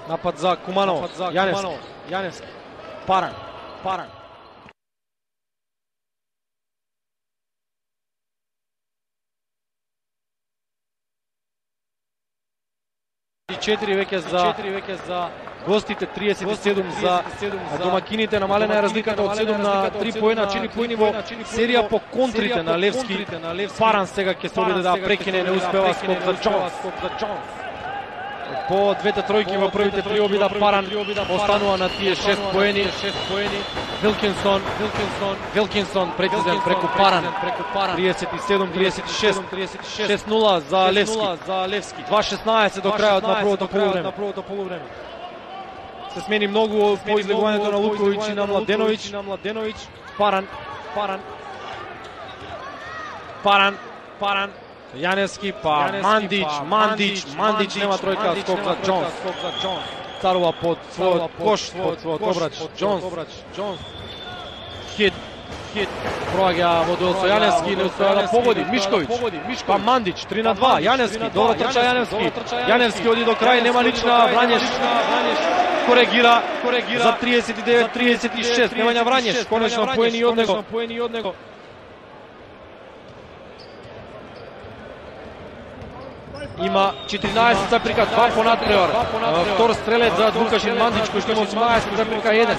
Напад за Куманов, Јаневски, Јаневски, Паран, Паран. четири веќе за гостите, триесет и седум за домакините. Намалена е разликата од седум на три поена, четири поени во серија по контрите на Левски. Паран сега ќе се обиде да прекине, не успева, скок за Џонс. По двете тројки во првите три обида Паран останува на тие шест поени. Вилкинсон, Вилкинсон прецизен преку Паран. триесет и седум триесет и шест. шест нула за Левски. два шеснаесет до крајот на првото полувреме. Се смени многу по излегувањето на Луковиќ и на Младеновиќ. Паран, Паран. Паран, Паран. Јаневски, па Мандич, Мандич, Мандич нема тројка, скок за Џонс. Царува под својот кош, под својот обрач, Џонс. Хит, хит, проаѓа во дуел со Јаневски, не успеа да погоди, Мишковиќ, па Мандич, три на два, Јаневски, добро трча Јаневски. Јаневски оди до крај, нема лична, Врањеш коригира за триесет и девет триесет и шест, Немања Врањеш, конечно поени од него. Има четиринаесет заприка два по надпревар. Втор стрелец за Дукашин Мандич кој што има осумнаесет заприка еден.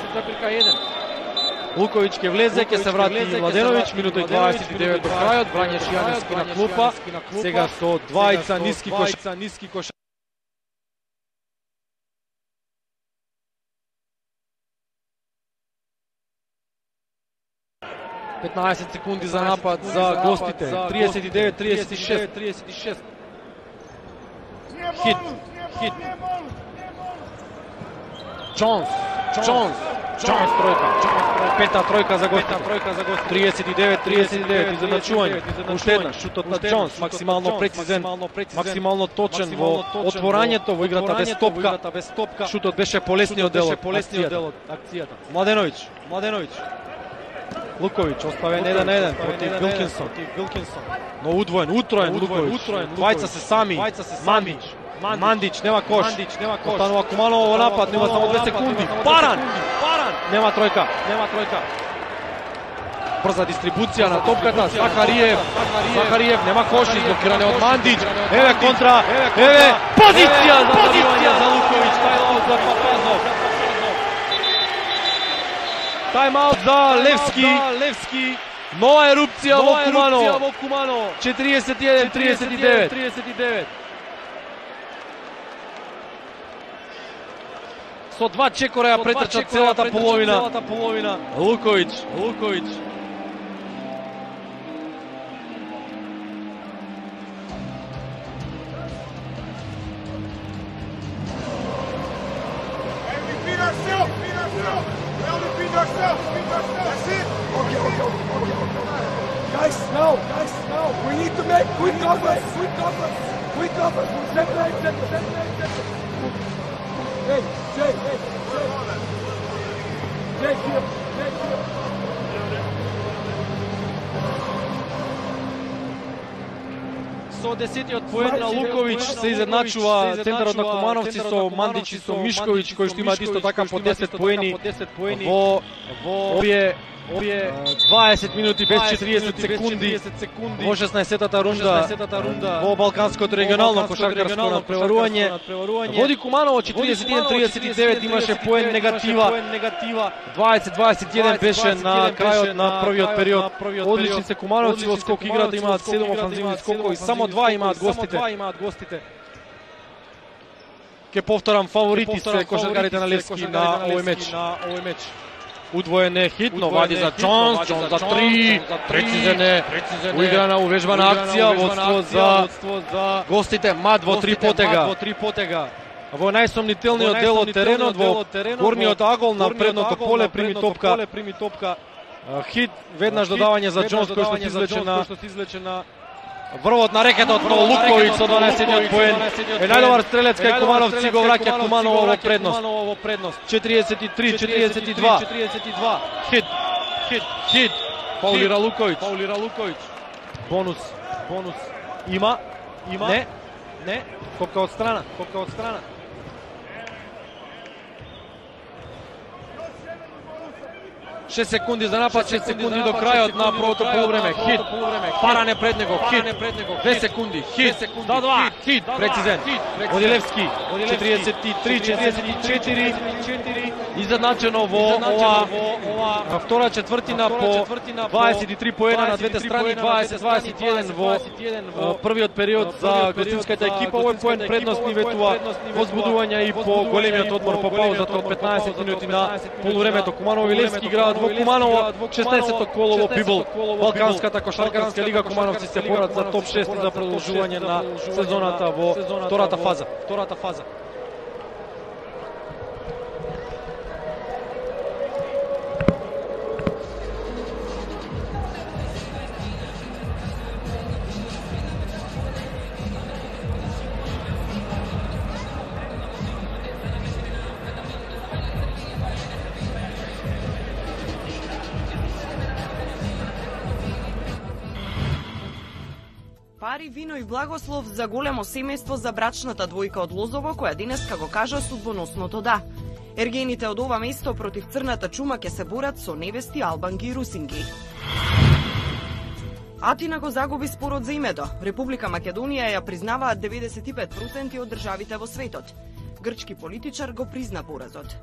Луковиќ ќе влезе, ќе се врати Младеновиќ, минута и дваесет и девет до крајот. Врањеш Јаневски на клупа. Сега со двајца ниски кош. петнаесет секунди за напад за гостите. триесет и девет триесет и шест. Хит, хит. Џонс, Џонс, Џонс тројка. Пета тројка за гостите. триесет и девет тридесет и девет изедначување. Уште една шутот на Џонс, максимално прецизен, максимално точен во отворањето во играта без топка. Шутот беше полесниот дел од акцијата. Младеновиќ, Младеновиќ. Луковиќ оставен еден на еден против Вилкинсон. Но удвоен, утроен Луковиќ. Двајца се сами. Мандич. Мандич нема кош. Останува Куманово во напад, нема само две секунди. Паран. Нема тројка. Брза дистрибуција на топката. Захариев. Захариев нема кош, изблокиране од Мандич. Еве контра. Еве позиција за Луковиќ. Тајлаут за Папазов. Тајмаут за Левски. Нова ерупција во Куманово. четириесет и еден тридесет и девет. Со два чекора ја претрча целата половина. Луковиќ. Guys, now, guys, now, we need to make quick covers, quick covers, quick covers. Separate, separate, separate. Hey, Jay, hey, Jay, here, Jay, here. Со десетиот поен на Луковиќ се изедначува центарот на Кумановци со Мандич и со Мишковиќ, кои што имаат исто така по десет поени во овие дваесет минути без четириесет секунди во шеснаесеттата рунда во Балканското регионално кошаркарско надпреварување. Води Куманово четиридесет и еден тридесет и девет, имаше поен негатива. дваесет дваесет и еден беше на крајот на првиот период. Одлични се Кумановци во скок играта, имаат седум офанзивни скокови, само два имаат гостите. Ке повторам, фаворити се кошаркарите на Левски на овој меч. Удвоен е хит, но вади за Джонс, Джонс за три, прецизен е, уиграна, увежбана акција, водство за гостите, Мад во три потега. Во најсомнителниот дел од теренот, во горниот агол на предното поле, прими топка, хит, веднаш додавање за Джонс, кој што се извлече на врвот на рекетот, но Луковиќ со дванаесеттиот поен е најдобар стрелец кај Кумановци, го враќа Куманово во предност. четириесет и три четириесет и два. Хит. Хит. Фаулира Луковиќ. Бонус. Има. Не. Копка од страна. шест секунди за напад, шест секунди до крајот на првото полувреме. Хит. Паране пред него. Хит. две секунди. Хит. За два. Хит. Прецизен. Оди Левски. четириесет и три четириесет и четири. Изедначено во ова втора четвртина по дваесет и три поена на двете страни, дваесет дваесет и еден во првиот период за гостинската екипа. Овој поен предност ни ветува возбудување и по големиот одмор по паузата од петнаесет минути на полувремето. Куманово и Левски играат во Куманово, шеснаесетто коло во Бибол. Балканската кошаркарска лига, Кумановци се борат за топ шест и за продолжување на сезоната во втората фаза. Пари, вино и благослов за големо семејство за брачната двојка од Лозово, која денеска го кажа судбоносното да. Ергените од ова место против црната чума ќе се борат со невести албанги и русинги. Атина го загуби спорот за името. Република Македонија ја признаваат деветдесет и пет проценти од државите во светот. Грчки политичар го призна поразот.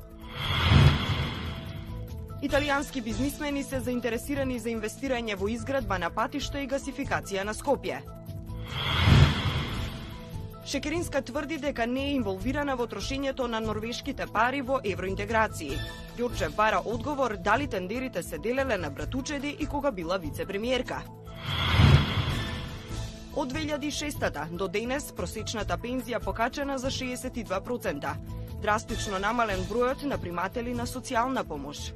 Италијански бизнисмени се заинтересирани за инвестирање во изградба на патишта и гасификација на Скопје. Шекеринска тврди дека не е инволвирана во трошењето на норвешките пари во евроинтеграции. Ѓорчев бара одговор дали тендерите се делеле на братучеди и кога била вице-премиерка. Од две илјади и шеста до денес просечната пензија покачена за шеесет и два проценти. Драстично намален бројот на приматели на социјална помош.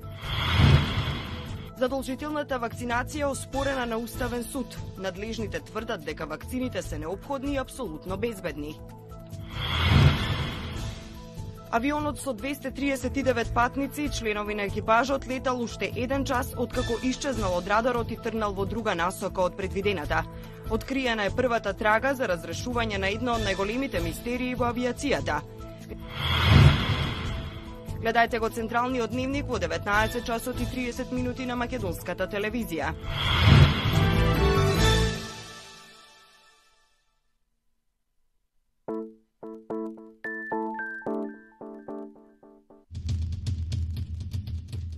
Задолжителната вакцинација оспорена на Уставен суд. Надлежните тврдат дека вакцините се неопходни и апсолутно безбедни. Авионот со двесте триесет и девет патници и членови на екипажот летал уште еден час откако исчезнал од радарот и тргнал во друга насока од предвидената. Откриена е првата трага за разрешување на едно од најголемите мистерии во авиацијата. Гледајте го Централниот дневник во деветнаесет часот и триесет минути на македонската телевизија.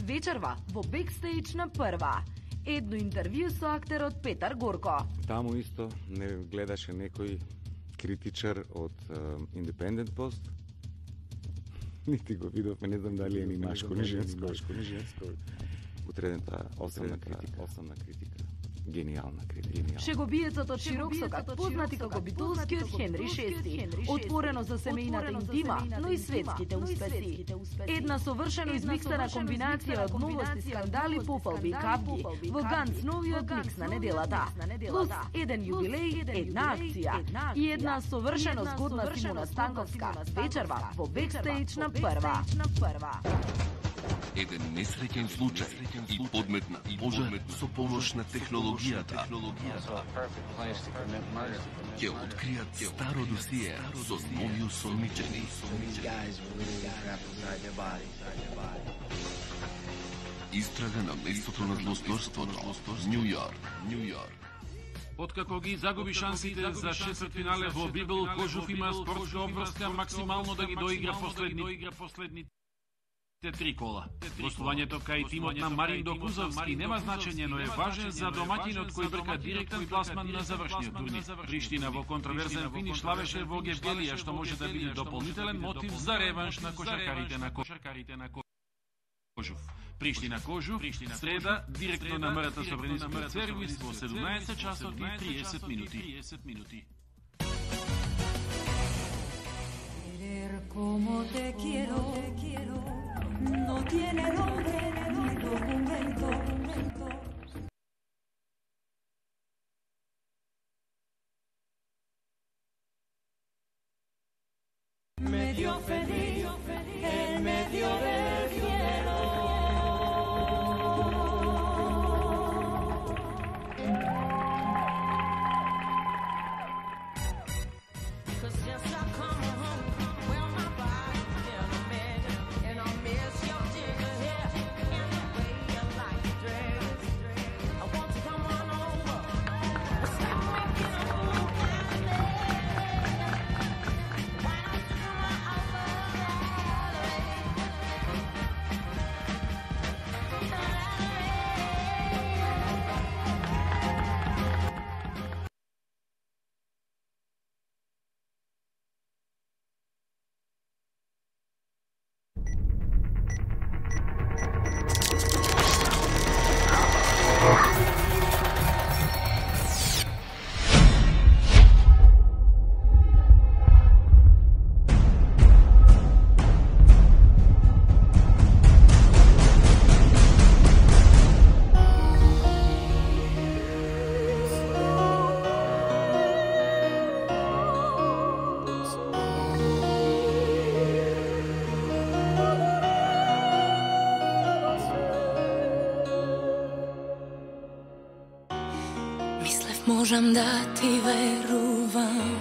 Вечерва во бекстејдж на Прва. Едно интервју со актерот Петар Горко. Таму исто не гледаше некој критичар од uh, Independent Post. Нити го видовме, не знам дали е ни машко, ни женско. Утредната основна критика. Основна критика. Гениална критика. Шегобиецот од Широксокак, познати како битолскиот Хенри шести, отворено за семејната интима, но и светските успеси. Една совршено измиксана комбинација од новости, скандали, пофалби и капки во Ганц новиот микс на неделата. Плюс еден јубилеј, една акција и една совршено згодна Симона Станковска. Вечерва во бекстејдж на Прва. Еден несреќен случај и подметна пожар со помош на технологијата ќе откријат старо досие со нови осомничени. Истрага на местото на злосторството, Нью Йорк, Нью Йорк. Откако ги загуби шансите за четвртфинале во Библ, Кожуф има спортска обврска максимално да ги доигра последните три кола. Гостувањето кај тимот на Марин Докузовски нема значење, но е важен за домаќинот кој брка директен пласман на завршниот турнир. Приштина во контроверзен финиш славеше во Гевгелија, што може да биде дополнителен мотив за реванш на кошаркарите на Кожуф. Приштина Кожуф, среда, директно на МРТ Собранискиот сервис во седумнаесет часот и триесет минути. Como te quiero, no tiene nombre ni documento. Medio feliz en medio del cielo. Можам да ти верувам,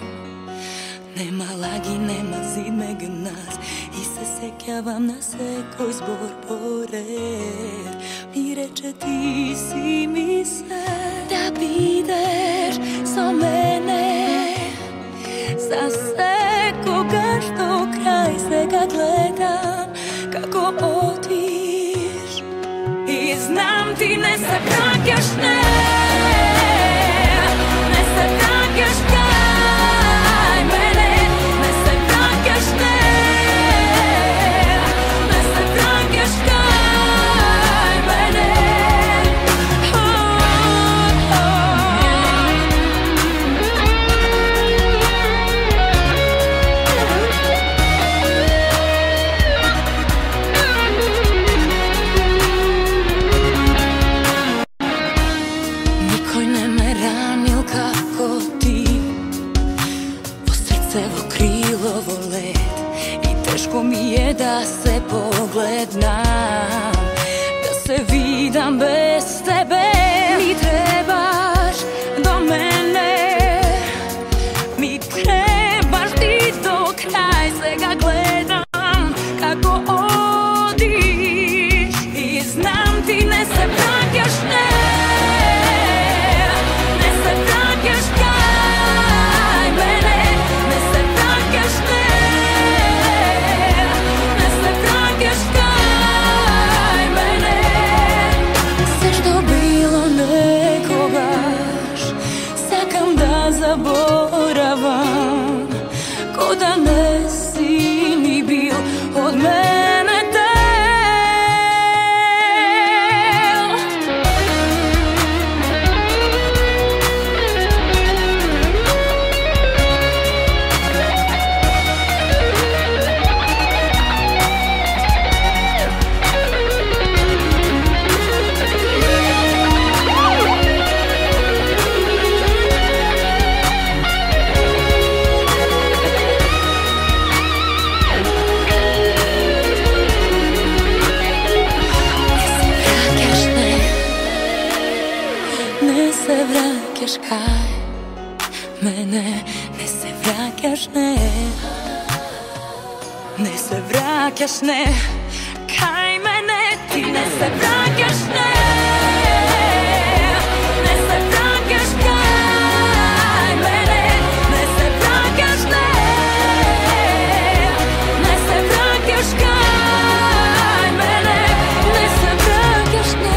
нема лаги, нема зид меѓу нас, и се сеќавам на секој збор поред. Ми рече ти си ми се, да бидеш со мене, за секогаш до крај. Сега гледам како одиш и знам ти не се враќаш, не. Да се погледнам, да се видам без тебе. Ми требаш до мене, ми требаш ти до крај. Сега гледам како одиш и знам ти не се враќаш, не. Не се враќаш кај мене, не се враќаш, не. Заборавам, ко да не си ми бил од мене дел. vraćaš kaj mene, ne se vraćaš ne, ne se vraćaš ne, kaj mene, ti ne se vraćaš ne, ne se vraćaš kaj mene, ne se vraćaš ne, ne se vraćaš kaj mene, ne se vraćaš ne.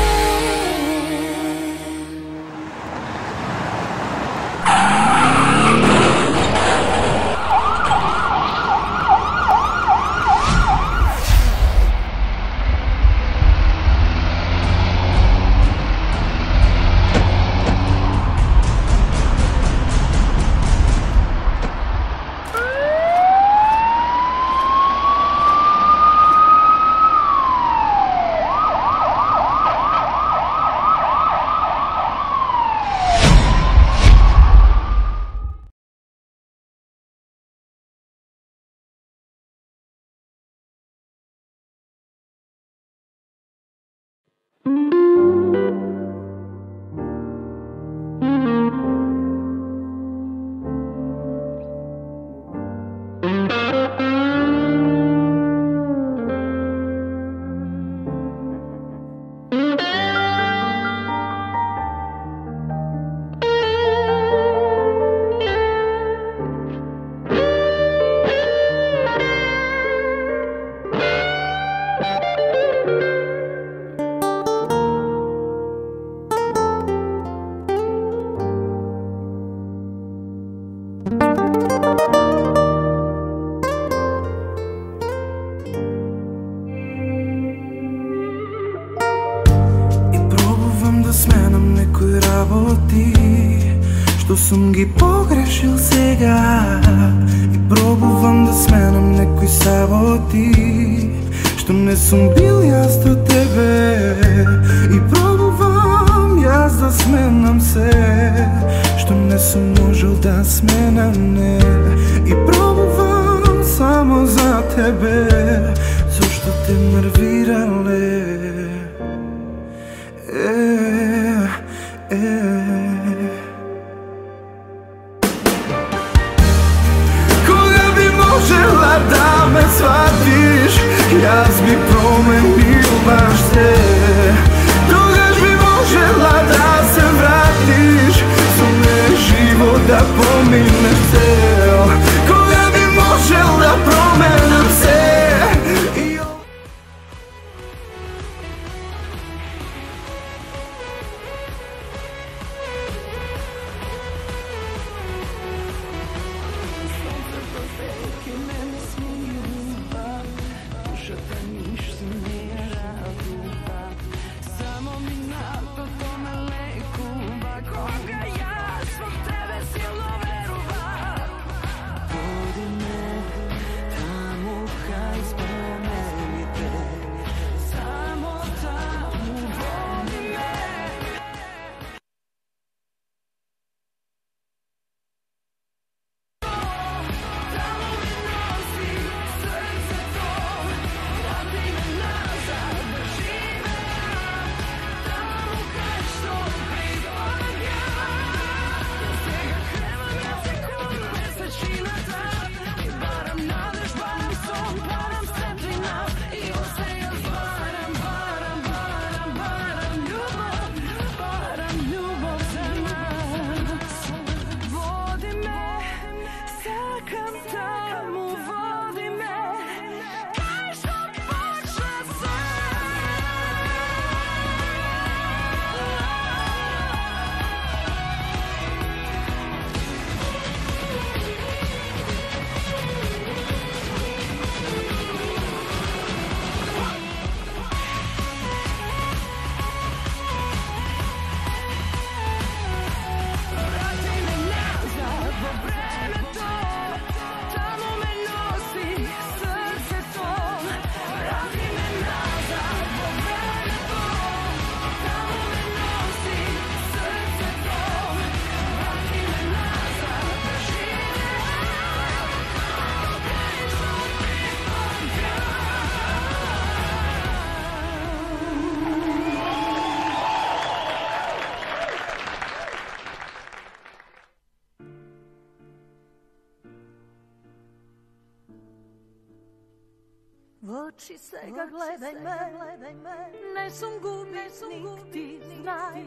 Што сум ги погрешил сега и пробувам да сменам некои саботи, што не сум бил јас до тебе, и пробувам јас да сменам се, што не сум можел да сменам не, и пробувам само за тебе, зашто те нервирале. Е, е. Можела да ме сватиш, јас би променил баш се. Тогаш би можела да се вратиш, со мене живот да поминеш цел. Кога би можел да променам се. Кога јас во тебе силно верувам. В очи сега гледај ме, не сум губитник, ти знај,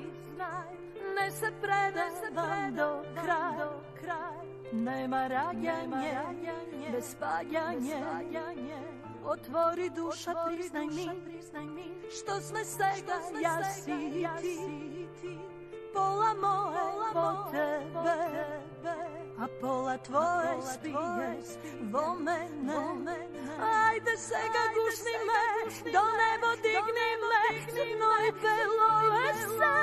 не се предавам до крај. Нема раѓање, без паѓање, отвори душа, признај ми, што сме сега јас и ти. Пола мое по тебе, а пола твое спие во мене. Ајде сега гушни ме, до небо дигни ме, црно и бело е се.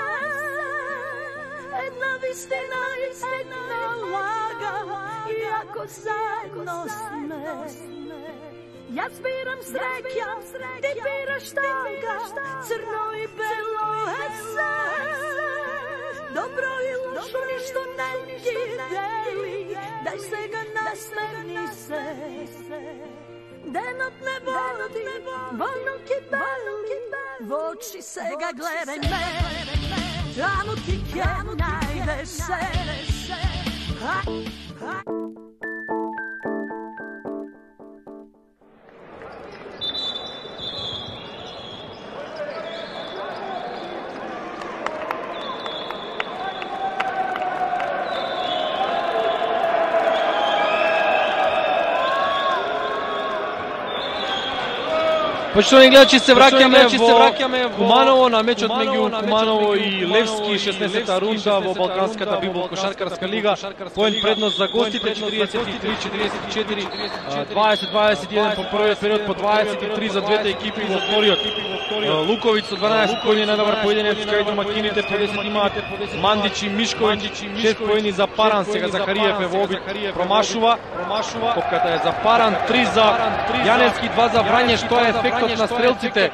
Една вистина, една лага, иако заедно сме. Јас бирам среќа, ти бираш тага, црно и бело е се. Добро и лошо ништо не ги дели, дај сега насмевни се. Денот не води, во ноќи бели, во очи сега гледај ме, таму ти ќе најдеш се. Почитувани гледачи, се враќаме во Куманово на мечот меѓу Куманово и Левски, шеснаесетта рунда во Балканската Бибол кошаркарска лига. Поен предност за гостите четиридесет и три четиридесет и четири, дваесет дваесет и еден по првиот период, по дваесет и три за двете екипи во вториот. Луковиќ со дванаесет поени најдобар поединец, кај домакините по десет имаат Мандич и Мишковиќ, шест поени за Паран. Сега Захариев е во обид, промашува, топката е за Паран, три за Јаневски, два за Врање, што е ефектот на стрелците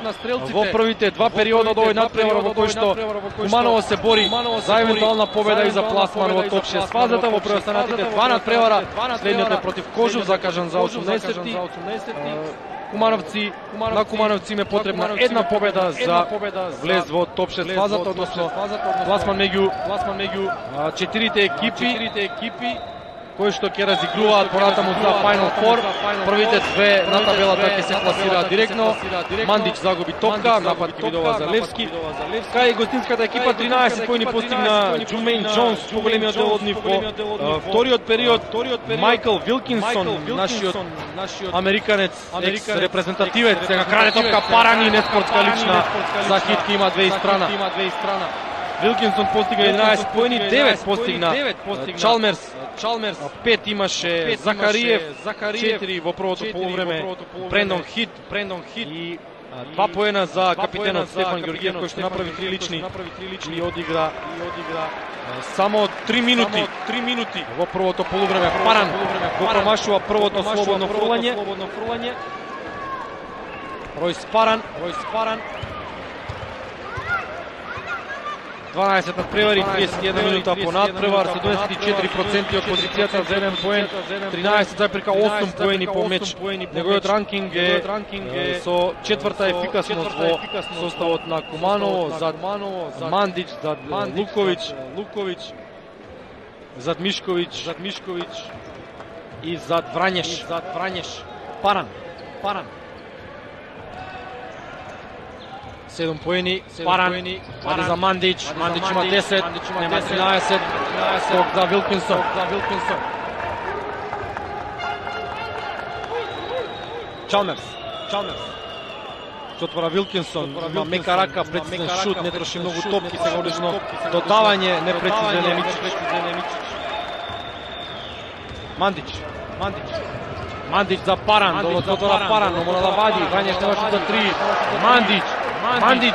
во првите два периода од овој надпревар во кој што Куманово се бори за евентуална победа и за пласман во топ шест фазата. Во преостанатите два надпревара, следниот е против Кожув, закажан за осумнаесетти. Кумановци, на Кумановци им е потребна една победа за влез во топ шест фазата, односно пласман меѓу четирите екипи кои што ќе разигруваат понатаму за Final Four. Првите две на табелата ќе се класираат директно. Мандич загуби топка, напад ќе видува за Левски. Кај гостинската екипа тринаесет поени постигна Джумейн Джонс, поголемиот дел од нив во вториот период. Майкл Вилкинсон, нашиот американец, екс репрезентативец, сега краде топка Паран и неспортска лична за Хитки, има две и страна. Вилкинсон постигна единаесет поени, девет постигна Чалмерс, Чалмерс, пет имаше Захариев, четири во првото полувреме Брендон Хит, Брендон Хит и два поена за капитенот Стефан Георгиев, кој што направи три лични и одигра само три минути, три минути во првото полувреме. Паран го промашува првото слободно фрлање. Ројс Паран, Ројс Паран дванаесет надпревари, триесет и една минута по надпревар, седумдесет и четири проценти од позицијата за еден поен, тринаесет запирка осум поени по меч. Неговиот ранкинг е со четврта ефикасност во составот на Куманово, зад Мандич, зад Луковиќ, Луковиќ, зад Мишковиќ, зад Мишковиќ и зад Врањеш, зад Врањеш. Паран, Паран. седум поени, Паран, аде за Мандич, Мандич има десет, нема тринаесет, скок за Вилкинсон. Чалмерс, Чалмерс. Се отвора Вилкинсон, има мека рака, прецизен шут, не троши многу топки, сега одлично додавање, непрецизен Емичич. Мандич, Мандич. Мандич за Паран, долу се отвора Паран, но мора да вади, Врањеш нема шут за три. Мандич, Мандич,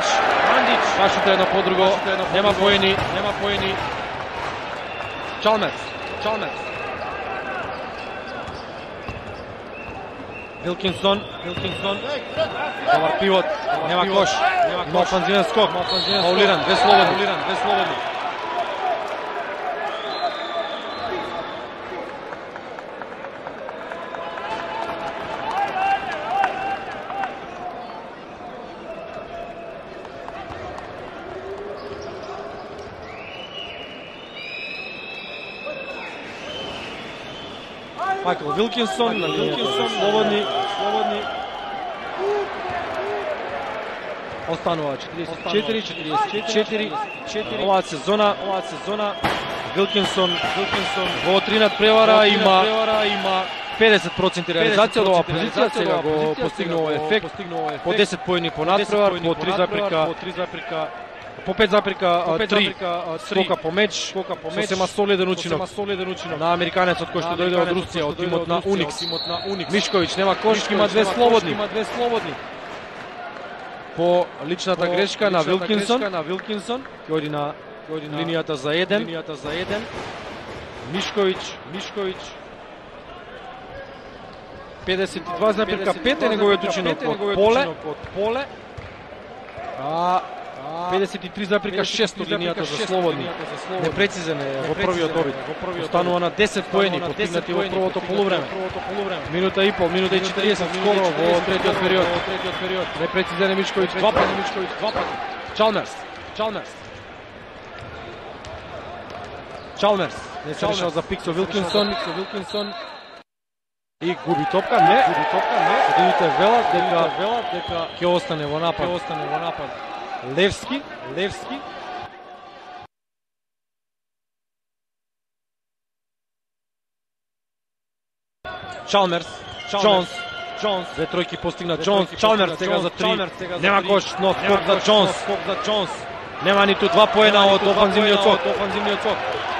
Мандич, башута едно по друго, нема поени, нема поени. Чалмерс, Чалмерс. Вилкинсон, Вилкинсон. Добар пивот, нема кош, но офанзивен скок, фаулиран, две слободни, две слободни. Майкл Вилкинсон, на линијата слободни, слободни. останува четириесет и четири, четириесет и четири. Оваа сезона, оваа сезона Вилкинсон, Вилкинсон во три надпревара има има педесет проценти реализација од оваа позиција, сега го постигнува ефект, по десет поени по надпревар, по три запрека, по пет запрека три скока по меч, сосема солиден учинок на американецот кој што дојде од Русија, од тимот на Уникс. Мишковиќ нема кош, има две слободни. По личната грешка на Вилкинсон, на Вилкинсон, кој оди на линијата за еден, линијата за еден. Мишковиќ, Мишковиќ педесет и два запрека пет е неговиот учинок од поле, од поле. А педесет и три запрека шест од линијата за слободни. Непрецизен е во првиот обид. Останува на десет поени постигнати во првото полувреме. Минута и пол, минута и четириесет скоро во третиот период. Непрецизен е Мишковиќ два пати, Мишковиќ два пати. Чалмерс, Чалмерс. Чалмерс не се решава за Пиксо Вилкинсон, Вилкинсон. И губи топка, не, губи топка, не. Судиите велат дека велат дека ќе остане во напад, ќе остане во напад. Левски, Левски. Чалмерс, Джонс, Джонс. Две тројки постигна Джонс, Чалмерс сега за три. Нема кош, но скок за Джонс, скок за Джонс. Нема ниту два поена од офанзивниот скок, офанзивниот скок.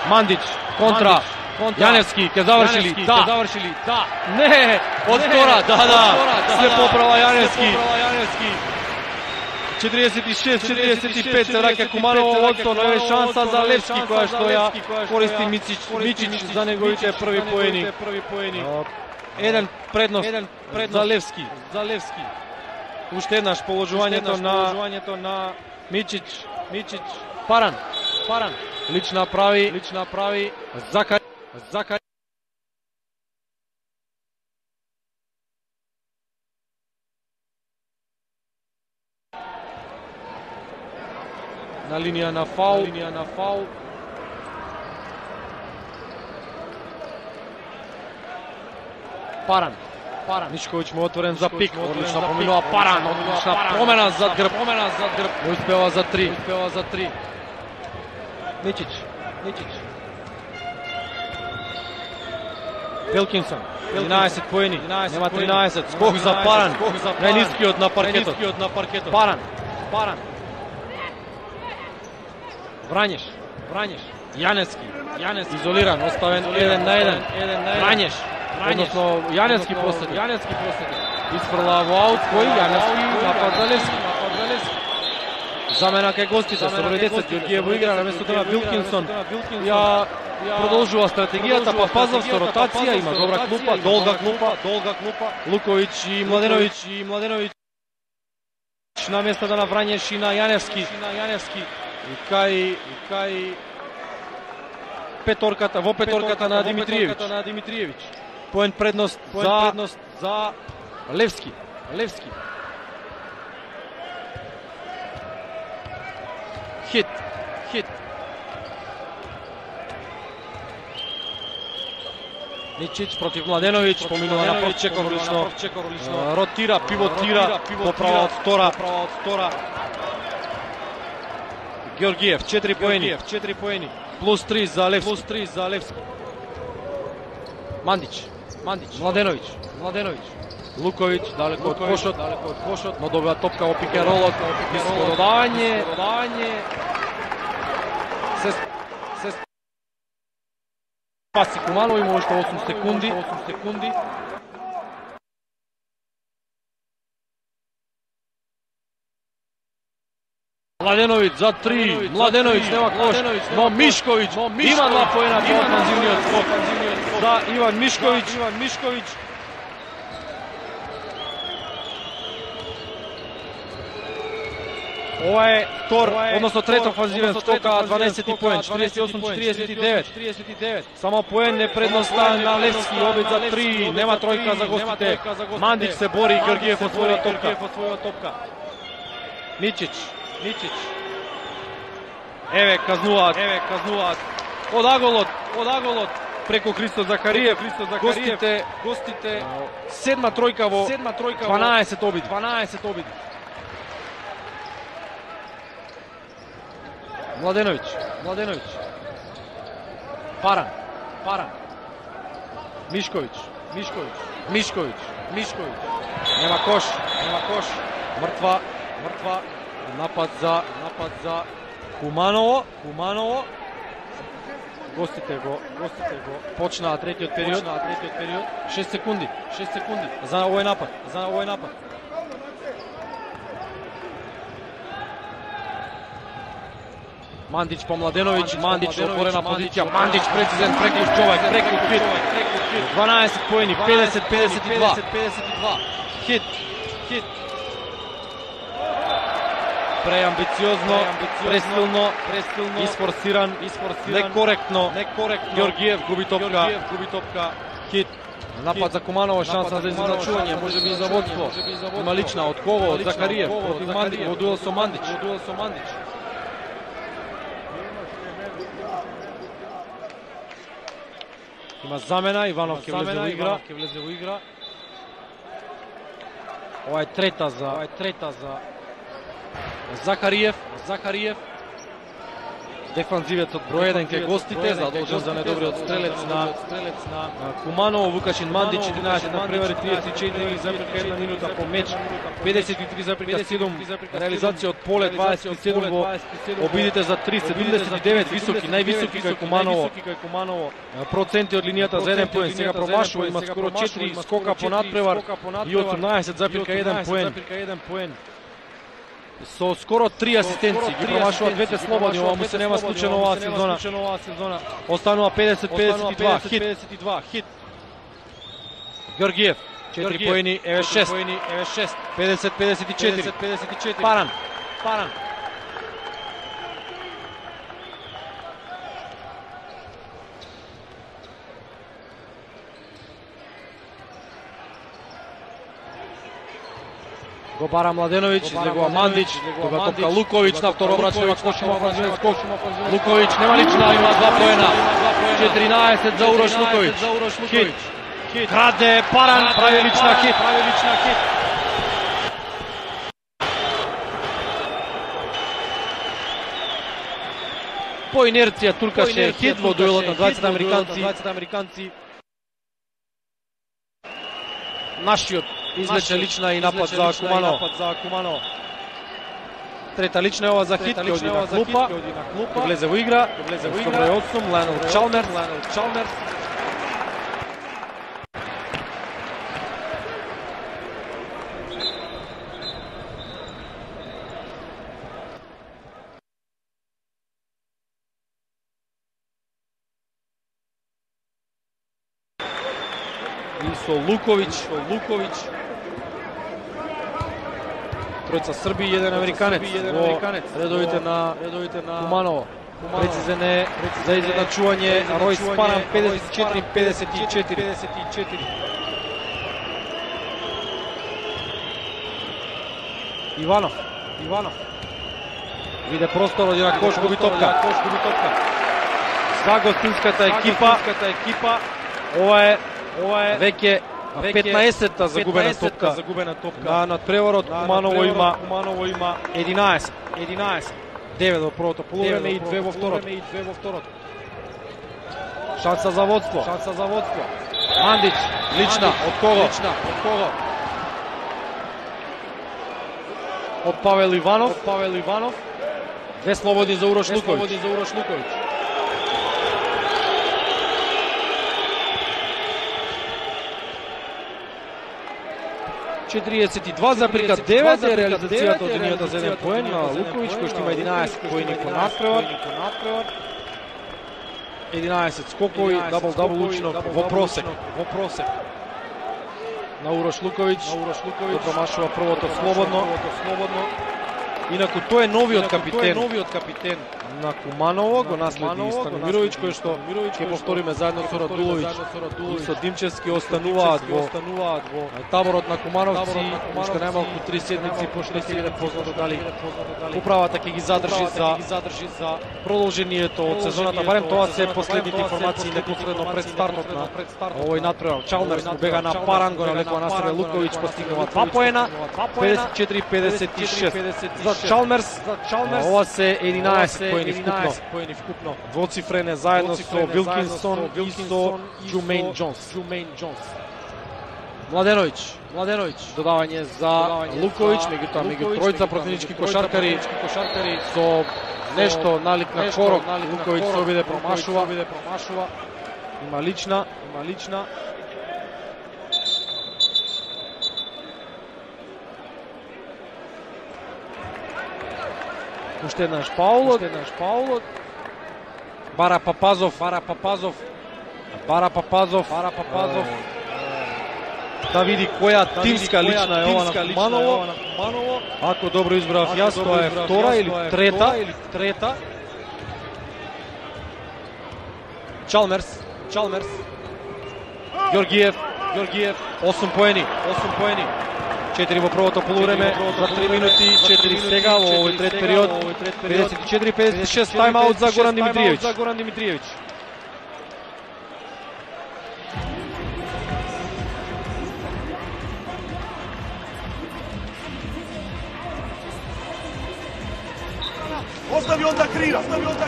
Мандич, контра. Јаневски ќе завршили, да, ќе завршили, да. Не, од втора, да, да. Се поправа Јаневски. четириесет и шест четириесет и пет се враќа Куманово водство, но е шанса за Левски која што ја користи Мичич, Мичич за неговите први поени. Еден предност, еден предност за Левски, за Левски. Уште еднаш положувањето на положувањето на Мичич, Мичич, Паран, Паран. Лична прави, лична прави Закари, Закари. На линија на фаул, линија на фаул. Паран, Паран. Мишковиќ му отворен за пик, одлична поминува Паран, одлична промена зад грб, промена зад грб. Не успева за три, успева за три. Мичич, Мичич. Вилкинсон, единаесет поени, нема тринаесет, скок за Паран, најнискиот на паркетот. Паран, Паран. Врањеш, Врањеш, Јаневски, Јаневски изолиран, оставен еден на еден, Врањеш, односно Јаневски последи, Јаневски последи. Isfrla во аут кој Јаневски напад за Левски, напад за Левски. Замена кај гостите со број десет Ѓорѓиево игра наместо тоа Вилкинсон. Ја продолжува стратегијата, па Пазов со ротација, има добра клупа, долга клупа, долга клупа. Луковиќ и Младеновиќ и Младеновиќ на местото на Врањеш и на Јаневски, на Јаневски. И кај, и кај петорката, во петорката на Димитриевиќ, на Димитриевиќ. Поен предност за предност за Левски, Левски. Хит, хит. Мичич против Младеновиќ, поминува на прв чекор, лично ротира, пивотира, поправа од втора, поправа од втора. Ѓорѓиев, четири поени, четири поени. Плюс три за Левски, плюс три за Левски. Мандич, Мандич, Младеновиќ, Младеновиќ. Луковиќ, далеко од кошот, далеко од кошот, но добива топка во пикеролот, додавање, додавање. Се се паси Куманово, има уште осум секунди, осум секунди. Младеновиќ за три, Младеновиќ нема кош, но Мишковиќ има два поена по офанзивниот скок за Иван Мишковиќ, Иван Мишковиќ. Ова е втор, односно трет офанзивен скок, дванаесет поен, четириесет и осум четириесет и девет. Само поен е предноста на Левски, обид за три, нема тројка за гостите. Мандич се бори, Ѓорѓиев освојува топка. Мичич, Мичич. Еве казнуваат, еве казнуваат. Од аголот, од аголот преку Христо Закариев, Христо Закариев. Гостите, гостите седма тројка во седма тројка дванаесет обид, дванаесет обид. Младеновиć, Младеновиć. Паран, Паран. Мишковиć, Мишковиć, Мишковиć, Мишковиć. Нема кош, нема кош. Мртва, мртва. Напад за, напад за Куманово, Куманово. Гостите го, гостите го. Почнаа третиот период, почнаа третиот период. шест секунди, шест секунди за овој напад, за овој напад. Мандич по Младеновиć, Мандич отворена позиција, Мандич прецизен преклуч човек, преклуч хит, дванаесет поени, педесет педесет и два. Хит, хит. Преамбициозно, пресилно, пресилно, isforsirан, isforsirан, некоректно, некоректно. Георгиев губи топка, губи топка. Хит. Напад за Куманово, шанса за изначување, може би и за водство. Има лична од кого? Од Закариев, против Мандич, во дуел со Мандич, во дуел со Мандич. Има замена, Иванов ќе влезе во игра, ќе влезе во игра. Ова е трета за, ова е трета за Закариев, Закариев. Дефанзивецот број еден кај гостите, задолжен за недобриот стрелец на стрелец на Куманово. Вукашин Мандич единаесет на превари, триесет и четири запирка една минута по меч, педесет и три запирка седум реализација од поле, дваесет и седум во обидите за три, седумдесет и девет високи, највисоки кај Куманово. Проценти од линијата за еден поен, сега промашува, има скоро четири скока по надпревар и осумнаесет запирка еден поен. Со скоро три асистенции, ги промашува двете слободни, ова му се нема случајно оваа сезона. Останува педесет педесет и два, хит. Георгиев, четири поени, еве шест, педесет педесет и четири. Паран, Паран. Го бара Младеновиć, излегува Мандич, тога топка Луковиć на второ врачнема Кошима офанзивен скок. Луковиć нема лична, има два поена. четиринаесет за Урош Луковиć. Хит. Краде Паран, прави лична хит. По инерција туркаше хит во дуелот на дваесет американци. Нашиот излече лична и напад за Куманово. Трета лична е ова за хит, ќе оди на клупа, ќе влезе во игра, со број осум, Лајнел Чалмерс. И со Луковиć. Тројца Срби и еден американец во редовите на Куманово. Прецизен е за изедначување Ројс Паран, педесет и четири педесет и четири. Иванов. Виде простор, оди на кош, губи топка. За гостинската екипа, ова е веќе петнаесетта загубена топка на надпреварот. Куманово има единаесет. девет во првото полувреме и две во второто. Шанса за водство. Мандич, лична, од кого? Од Павел Иванов. Две слободни за Урош Луковиć. четириесет и два запирка девет е реализацијата од линијата за еден поен на Луковиć, кој што има единаесет поени по надпревар. единаесет скокови, дабл-дабл учинок во просек. На Урош Луковиć, го промашува првото слободно. Инаку тој е новиот капитен на Куманово, го наследи Станимировиć, кој што ќе повториме заедно со Радуловиć и со Димчевски остануваат во таборот на Кумановци. Уште најмалку три седмици, пошто ќе биде познато дали управата ќе ги задржи за продолжението од сезоната. Барем тоа се последните информации непосредно пред стартот на овој надпревар. Чалмерс му бега на Паран, го навлекува на себе Луковиć, постигнува два поена, педесет и четири педесет и шест. За Чалмерс, за Чалмерс. Ова се единаесет поени вкупно. поени вкупно. Двоцифрен е заедно со Вилкинсон и со Джумейн Џонс. Джумейн Џонс. Младеновиќ, Младеновиќ, додавање за Луковиќ, меѓутоа меѓу тројца противнички кошаркари, кошаркари со нешто налик на корок, Луковиќ се обиде промашува, обиде промашува. Има лична, има лична. Уште еднаш Паулот, уште еднаш Паулот. Бара Папазов, Бара Папазов. Бара Папазов, Бара Папазов. Да види која тимска лична е ова на Куманово. Ако добро избрав јас, тоа е втора или трета, или трета. Чалмерс, Чалмерс. Ѓоргиев, Ѓоргиев, осум поени, осум поени. четири во првото полувреме, за три минути, четири сега во овој трет период. педесет и четири педесет и шест тайм-аут за Горан Димитриевиќ. За Горан Димитриевиќ. Остави он да крира.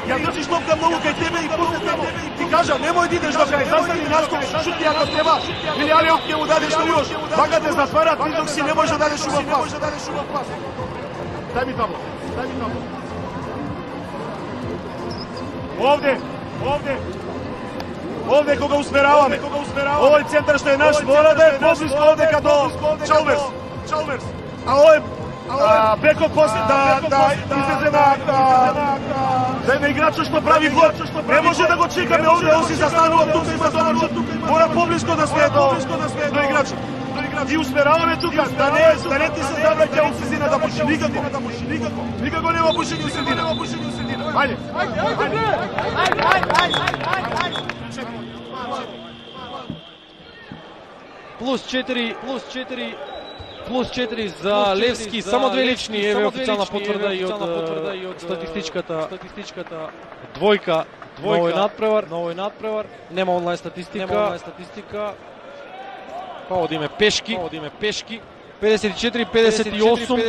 Ја држиш топка многу кај тебе и пусти тамо. Ти кажа, немој да идеш до крај, застави наскок, шути ако треба. Или Алиот ќе му дадеш што још. Вака те затварат, ти док си не можеш да дадеш убав пас. Дај ми табло, дај ми табло. Овде, овде. Овде кога усмераваме. Овој центар што е наш мора да е поблиско овде као Чалмерс. Чалмерс. А овој А, Беко после да да излезе на да има играчот што прави гол. Не може да го чекаме овде, он си застанува тука има добар шут. Мора поблиско да сме до до играчот. И усмераваме тука да не да не ти се завраќа у средина да пуши никако. Никако нема пушење у средина. Ајде. Ајде. Плюс четири, плюс четири. Плюс четири за Левски, само две лични, еве официјална потврда и од статистичката статистичката двојка, двојка надпревар, новој надпревар. Нема онлайн статистика, нема онлайн статистика. Па одиме пешки, па одиме пешки. педесет и четири педесет и осум.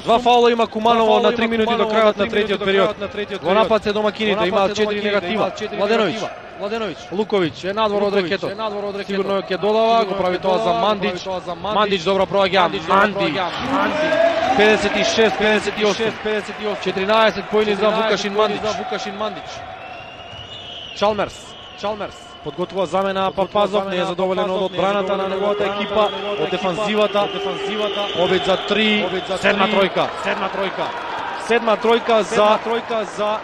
Два фаула има Куманово на три минути до крајот на третиот период. Во напад се домакините имаат четири негатива. Младеновиќ, Младеновиќ, Луковиќ е надвор од рекетот. Сигурно ќе додава, го прави тоа за Мандич. Мандич добро проаѓа. Манди. педесет и шест педесет и осум. четиринаесет поени за Вукашин Мандич. Вукашин Мандич. Чалмерс, Чалмерс. Подготвува замена Папазов, не е задоволен од одбраната на неговата екипа, од дефанзивата, дефанзивата. Обид за три, седма тројка, седма тројка. Седма тројка за тројка за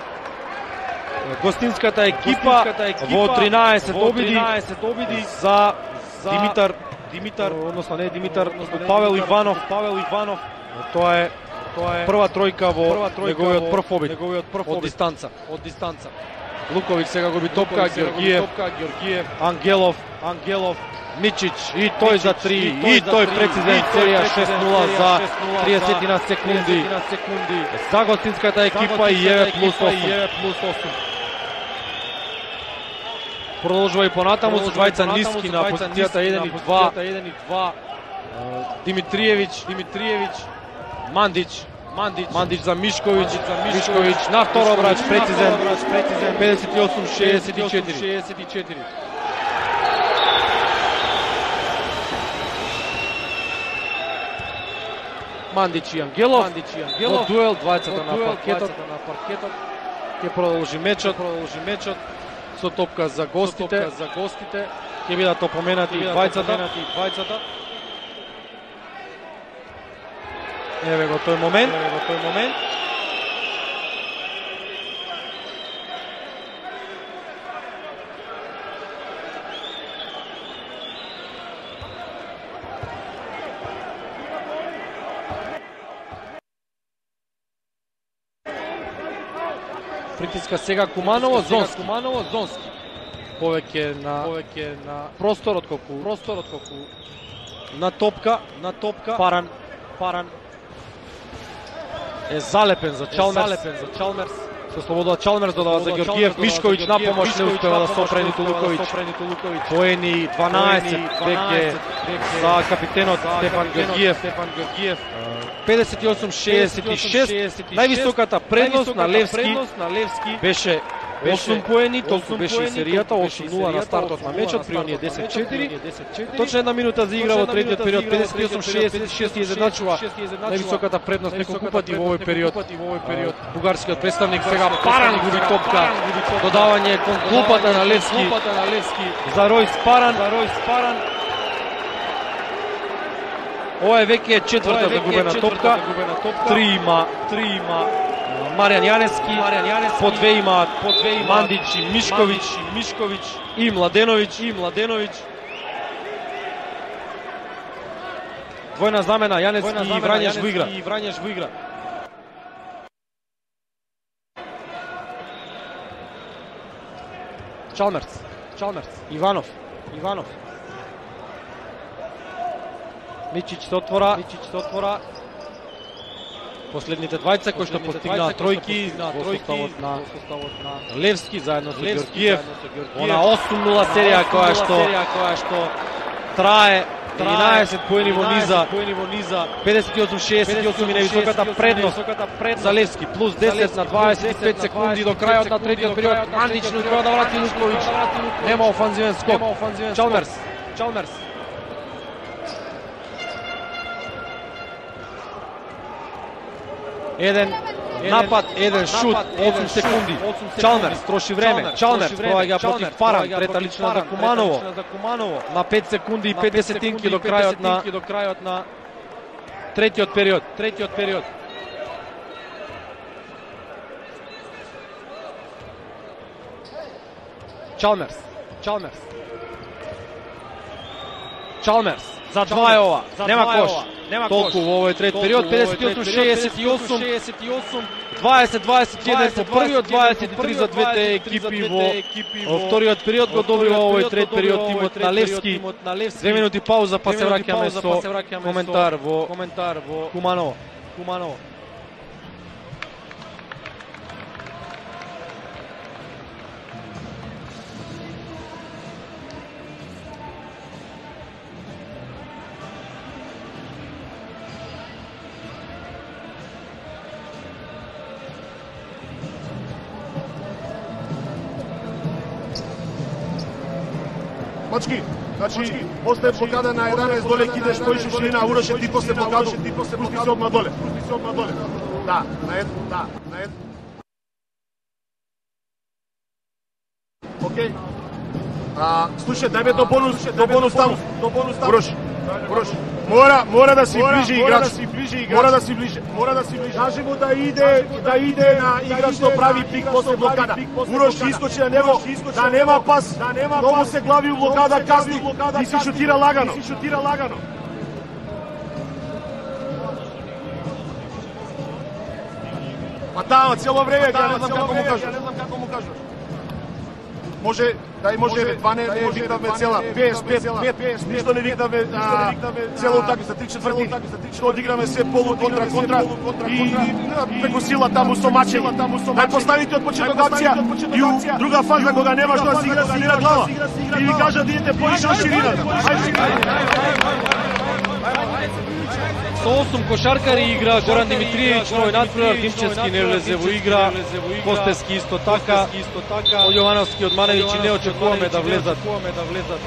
гостинската екипа во тринаесет обиди за Димитар Димитар, односно не Димитар, Павел Иванов, Павел Иванов. Тоа е тоа е прва тројка во неговиот прв обид, неговиот прв од дистанца, од дистанца. Луковиќ сега губи топка, Ѓоргиев, Ѓоргиев, Ангелов, Ангелов, Мичич и тој за три, и тој прецизен, серија шест нула за триесет на секунди. За гостинската екипа и еве плюс осум. Продолжува и понатаму со двајца ниски на позицијата еден и два. Димитриевиќ, Димитриевиќ, Мандич, Мандич, Мандич за Мишковиќ, Мишковиќ на втор обрач, прецизен, педесет и осум шеесет и четири. Мандич и Ангелов, во дуел, двајцата на паркетот, ќе продолжи мечот, продолжи мечот со топка за гостите, за гостите, ќе бидат опоменати двајцата. Еве го тој момент, еве го тој момент. Притиска сега Куманово, Зонски. Куманово, Зонски. Повеќе на повеќе на просторот колку просторот колку на топка, на топка. Паран, Паран е залепен за Чалмерс, залепен за Чалмерс. Со слобода Чалмерс додава за Георгиев, Мишковиќ на помош не успева да сопре ниту Луковиќ. Поени дванаесет веќе за капитенот Стефан Георгиев. педесет и осум шеесет и шест. Највисоката предност на Левски беше осум поени, толку беше и серијата, осум нула на стартот на мечот, при оние десет четири. Точно една минута за игра во третиот период, педесет и осум шеесет и шест и изедначува највисоката предност неколку пати во овој период. Бугарскиот представник сега Паран губи топка, додавање кон клупата на Левски за Ројс Паран. Ова е веќе четврта загубена топка, три има Маријан Јанески, по две имаат Мандич и Мишковиќ и Младеновиќ. Двојна замена, Јанески и Врањеш во игра. Чалмерс, Иванов. Мичич се отвора. Последните двајца кои што постигнаа тројки во составот на Левски заедно со Георгиев. Она осум нула серија која што трае единаесет поени во низа. педесет и осум шеесет и осум и највисоката предност за Левски. Плюс десет на дваесет и пет секунди до крајот на третиот период. Мандич не успеа да врати Луковиќ. Нема офанзивен скок. Чалмерс. Еден напад, еден шут, осум секунди. Чалмерс троши време. Чалмерс проаѓа против Паран, трета лична за Куманово. На пет секунди и пет десетинки до крајот на третиот период. Чалмерс за два е ова. Нема кош. Толку во овој трет период, педесет и осум шеесет и осум, дваесет дваесет и еден по првиот, дваесет и три за двете екипи во вториот период. Го добива овој трет период тимот на Левски. Две минути пауза, па се враќаме со коментар во Куманово. Мачки, значи, после блокада на еданаесет доле кидеш поише ширина, Уроше ти после блокаду, пусти се одма доле. Да, на ед, да, на ед. Окей. А, слушај, дај ме до бонус, до бонус таму. Урош, Урош. Мора, мора да си ближе играч. Мора да си ближе. Мора да си ближе. Кажи му да иде, да иде на играч што прави пик после блокада. Урош искочи на него, да нема пас. Многу се глави у блокада, касни и си шутира лагано. Па таа цело време, ја не знам како му кажеш. Може, дај може, два не викнавме цела, петдесет пет, ништо не викнавме цела утакмица, три четврти, што одиграме се полу контра контра и преку сила таму со мачење. Дај поставите од почеток акција и у друга фаза кога нема што да си игра, си игра глава. И ви кажа да идете поише од ширина. Со осум кошаркари игра Горан Димитриевич, новој надпревар, Димчевски не влезе во игра, Костески исто така, од Јовановски, од Маневиќи не очекуваме да влезат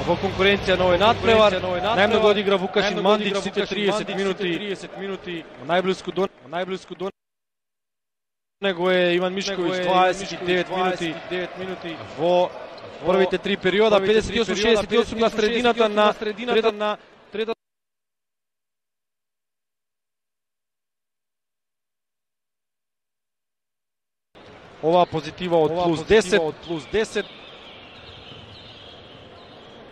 во конкуренција новој надпревар. Најмногу одигра Вукашин Мандич, сите триесет минути, најблиску до него е Иван Мишковиќ, дваесет и девет минути во првите три периода, педесет и осум шеесет и осум на средината на третата. Ова позитива од плюс десет,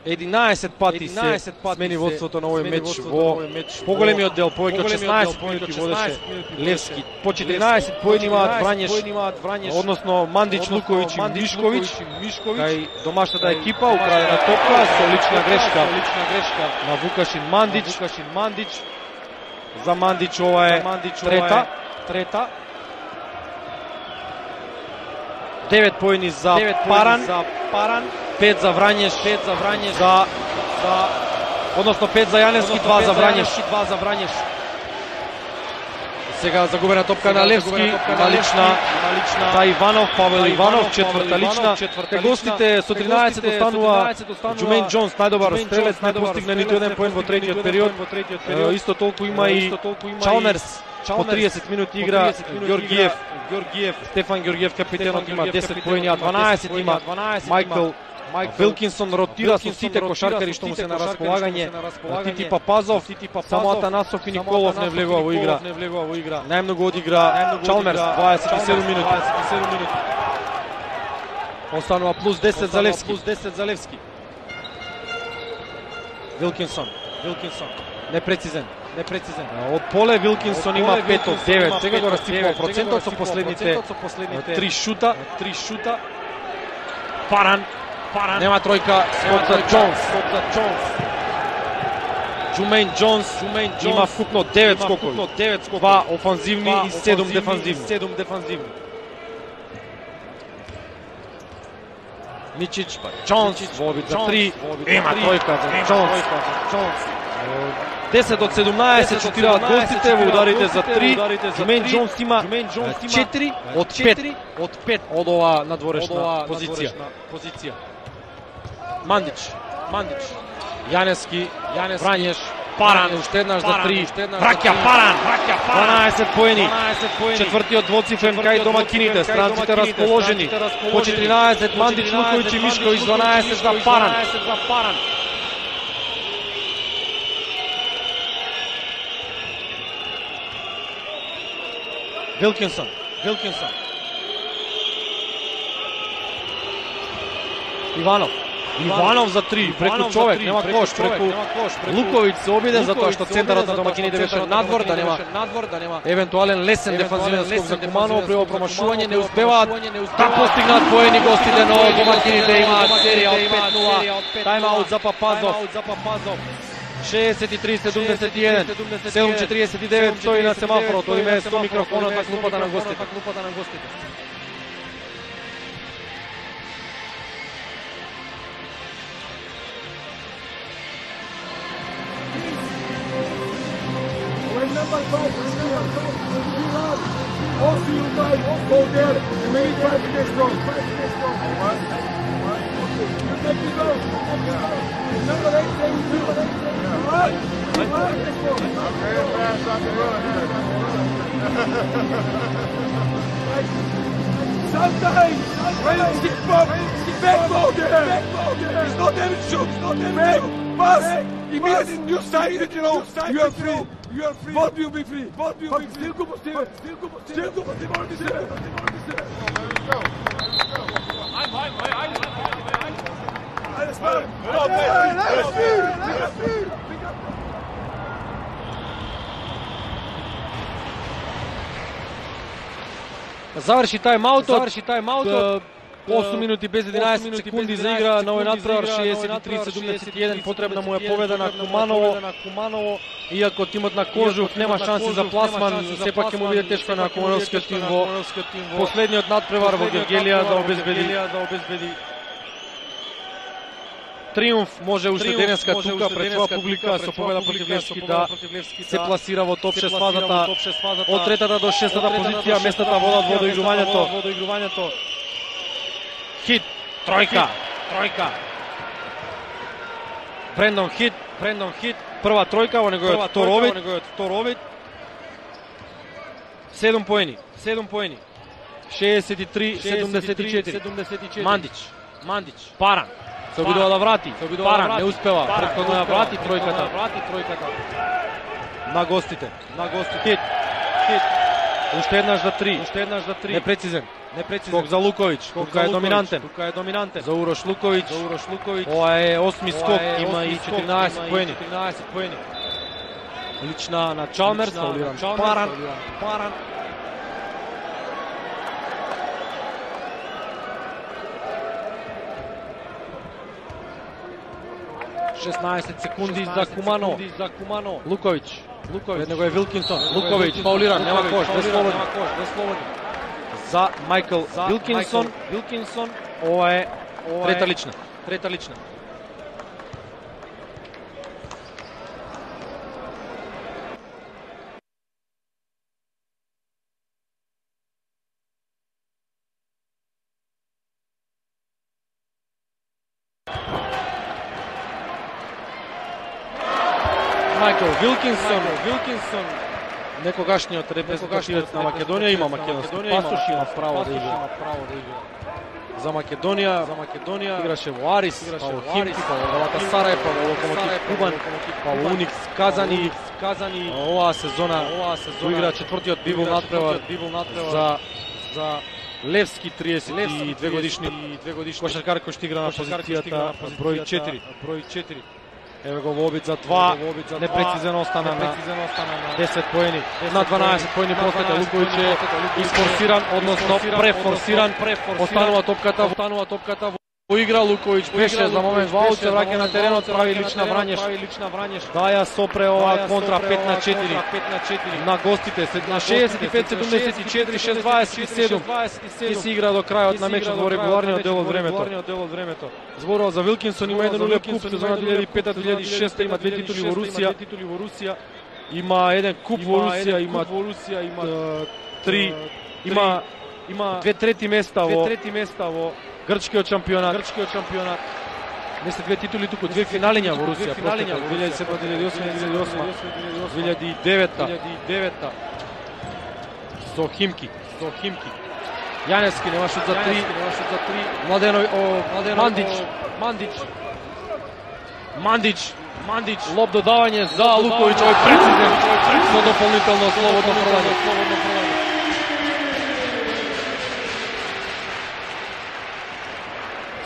единаесет пати се смени водството на овој меч во поголемиот дел, повеќе од шеснаесет минути водеше Левски. По четиринаесет поени имаат Врањеш, односно Мандич, Луковиќ и Мишковиќ, кај домашната екипа, украдена топка со лична грешка на Вукашин Мандич. За Мандич ова е трета. девет поени за Паран, за Паран, пет за Врањеш, пет за Врањеш, за за односно пет за Јаневски, два за Врањеш, два за Врањеш. Сега загубена топка на Левски, има лична, лична за Иванов, Павел Иванов, четврта лична. Кај гостите со тринаесет останува Џумејн Џонс, најдобар стрелец, не постигна ниту еден поен во третиот период. Исто толку има и Чалмерс, по триесет минути игра Ѓоргиев, Ѓоргиев, Стефан Ѓоргиев капитенот има десет поени, а дванаесет има Мајкл Вилкинсон, ротира со сите кошаркари што му се на располагање. Тити Папазов, само Атанасов и Николов не влегува во игра. Најмногу одигра Чалмерс, дваесет и седум минути. Останува плюс десет за Левски. Плюс десет за Левски. Вилкинсон, Вилкинсон, непрецизен. Непрецизен. Од поле Вилкинсон има пет од девет. Сега го растипува процентот со последните три шута, три шута. Паран, Паран. Нема тројка, скок за Џонс, скок за Џонс. Џумејн Џонс, Џумејн Џонс има вкупно девет скокови, девет скокови, два офанзивни и седум дефанзивни, седум дефанзивни. Мичич, па Џонс во обид за три, има тројка за Џонс. десет од седумнаесет шутираат гостите во ударите за три. Џумејн Џонс има четири од пет од пет од ова надворешна позиција. Позиција. Мандич, Мандич, Јаневски, Јаневски, Врањеш, Паран, уште еднаш за три, враќа Паран, дванаесет поени, четвртиот двоцифрен кај домакините, странците расположени, по четиринаесет Мандич, Луковиќ и Мишковиќ, дванаесет за Паран. Вилкинсон, Вилкинсон. Иванов. Иванов за три, преку човек, нема кош, преку Луковиќ се обиде затоа што центарот на домакините беше надвор, да нема надвор, да нема евентуален лесен дефанзивен скок за Куманово, при промашување не успеваат да постигнат поени гостите, но домакините имаат серија од пет нула. Тајм-аут за Папазов. шеесет и три седумдесет и еден, седум четириесет и девет стои на семафорот, одиме со микрофонот на клупата на гостите. When number five is here, also you might go there and maybe five minutes strong. Five minutes strong. What? What? You take it out. Number eight, number eight, what? Very fast on the run. Sometimes, when you stick bump, back ball there. It's not there to shoot. It's not there to shoot. Pass. Immediately you side it, you know, you are free. You are free. Both will be free. Both will be free. Still combustível. Still combustível. Still combustível. Still combustível. I'm fine. I'm fine. Let's go. Let's go. Заврши тајм-аутот. Заврши тајм-аутот. осум минути без единаесет секунди за игра на овој надпревар, шеесет и три седумдесет и еден, потребна му е победа на Куманово. Иако тимот на Кожух нема шанси за пласман, сепак ќе му биде тешко на кумановскиот тим во последниот надпревар во Гергелија да обезбеди триумф. Може уште денеска тука пред своја публика со победа против Левски да се пласира во топ шест фазата од третата до шестата позиција. Местата водат во доигрувањето. Хит, тројка, тројка. Брендон Хит, Брендон Хит, прва тројка во неговиот втор обид. седум поени, седум поени. шеесет и три седумдесет и четири. Мандич, Мандич, Паран. Се обидува да врати, Паран не успева, претходно да врати тројката. На гостите, на гостите. Хит, Хит. Уште еднаш за три, уште еднаш за три. Непрецизен. Скок за Луковиќ, тука е доминантен. Тука е доминантен. За Урош Луковиќ, за Урош Луковиќ. Ова е осми скок, има и четиринаесет поени. четиринаесет поени. Лична на Чалмерс, фаулиран Паран. Паран. шеснаесет секунди за Кумано. Луковиќ. Луковиќ. Пред него е Вилкинсон. Луковиќ фаулиран, нема кош, без слободни. за Майкл Вилкинсон. Вилкинсон. Ова е трета лична. Трета лична. Майкл Вилкинсон, Вилкинсон, некогашниот репрезентативец на Македонија, има македонски пасош, има право да игра. За Македонија, за Македонија играше во Арис, па во Химки, па во Галатасарај, па во Локомотив Кубан, па во Уникс Казани, Казани. Оваа сезона, оваа сезона игра четвртиот библ надпревар за за Левски, триесет и две годишни кошаркар кој што игра на позицијата број четири, број четири. Еве го во обид за два, непрецизен остана на десет поени, на дванаесет поени просмета. Луковиќ е изфорсиран, односно префорсиран, останува топката, останува топката во игра. Луковиќ беше за момент во аут, се враќа на теренот, прави лична врањеш, да ја сопре ова контра пет на четири на гостите, на шеесет и пет седумдесет и четири, шест дваесет и седум и се игра до крајот на мечот во регуларниот дел од времето. Зборува за Вилкинсон, има еден улеп куп сезона две илјади и пета две илјади и шеста, има две титули во Русија, има еден куп во Русија, има три, има има две трети места во трети места во грчкиот шампионат, грчкиот шампионат. Не се две титули, туку две финалиња во Русија, финалиња во две илјади и седма, две илјади и осма, две илјади и осма, две илјади и девета со Химки, со Химки. Јаневски нема шут за три, нема шут за три. Младено, о, Младено, Мандич, Мандич. Мандич, Мандич, лоп додавање за Луковиќ, овој прецизен, со дополнително слободно фрлање, слободно фрлање.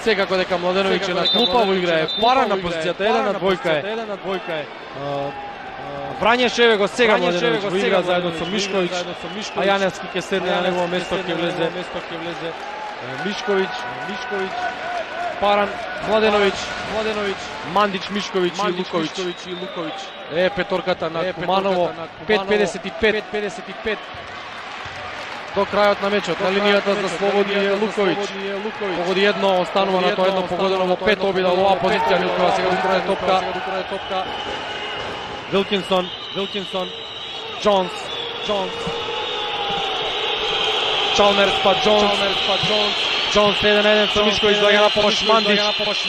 Секако дека Младеновиќ е на клупа, во игра е пара на позицијата еден на двојка е. еден на двојка е. Врањешеве го сега Младеновиќ во игра заедно со Мишковиќ, а Јаневски ќе седне на негово место, ќе влезе Мишковиќ, Мишковиќ, Паран, Младеновиќ, Младеновиќ, Мандич, Мишковиќ и Луковиќ. Е петорката на Куманово, пет педесет и пет. До крајот на мечот, на линијата за слободни е Луковиќ. Погоди едно, останува на тоа едно погодено во пет обида во оваа позиција. Милкова сега до крај топка. Вилкинсон, Вилкинсон, Джонс, Джонс. Чалмерс па Джонс, Джонс еден еден со Мишковиќ, доаѓа на помош Мандич.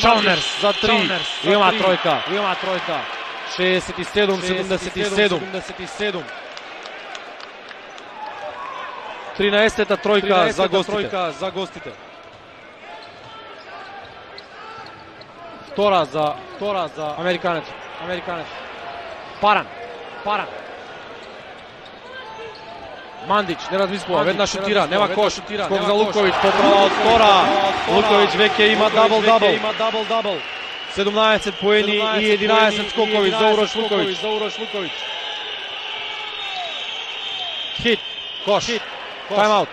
Чалмерс за три. Има тројка, има тројка. шеесет и седум седумдесет и седум. тринаесета тројка за гостите. за гостите. Втора за втора за американец. Американец. Паран. Паран. Мандич не размислува, веднаш шутира, нема кош. Скок за Луковиќ, поправа од втора. Луковиќ веќе има дабл-дабл. Има дабл-дабл. седумнаесет поени и единаесет скокови за Урош Луковиќ. Хит. Кош. Тайм-аут.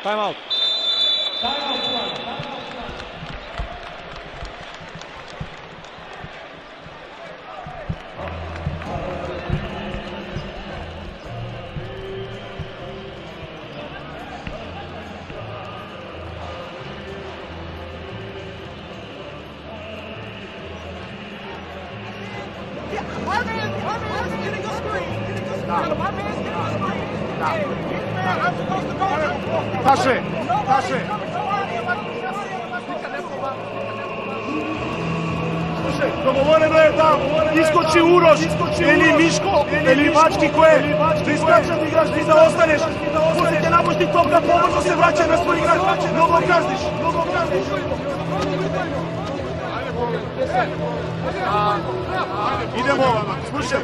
Тайм-аут. Таше, Таше. Слушај, договорено е да искочи Урош, или Мишко, или Мачки кој е, да искачат играш и да останеш. После ќе напушти топка, побрзо се враќа на свој играч. Многу казниш, многу казниш. Идемо, слушај,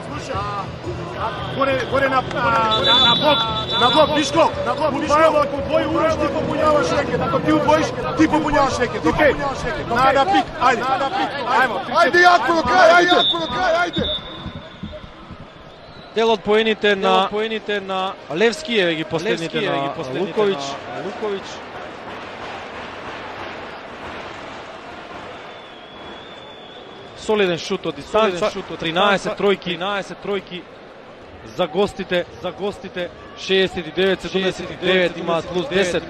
слушај. Горе, горе на, на, на блок, на блок, Мишко, на блок, Мишко, ако твој Урош ти попуњаваш рекет, ако ти удвоиш, ти попуњаваш рекет, окей? На да пик, ајде, на да пик, ајмо. Ајде јако до крај, ајде, јако до крај, ајде. Дел од поените на поените на Левски еве ги последните на Луковиќ, Луковиќ. Солиден шут од дистанца, тринаесет тројки, тринаесет тројки. за гостите, за гостите шеесет и девет седумдесет и девет имаат плюс десет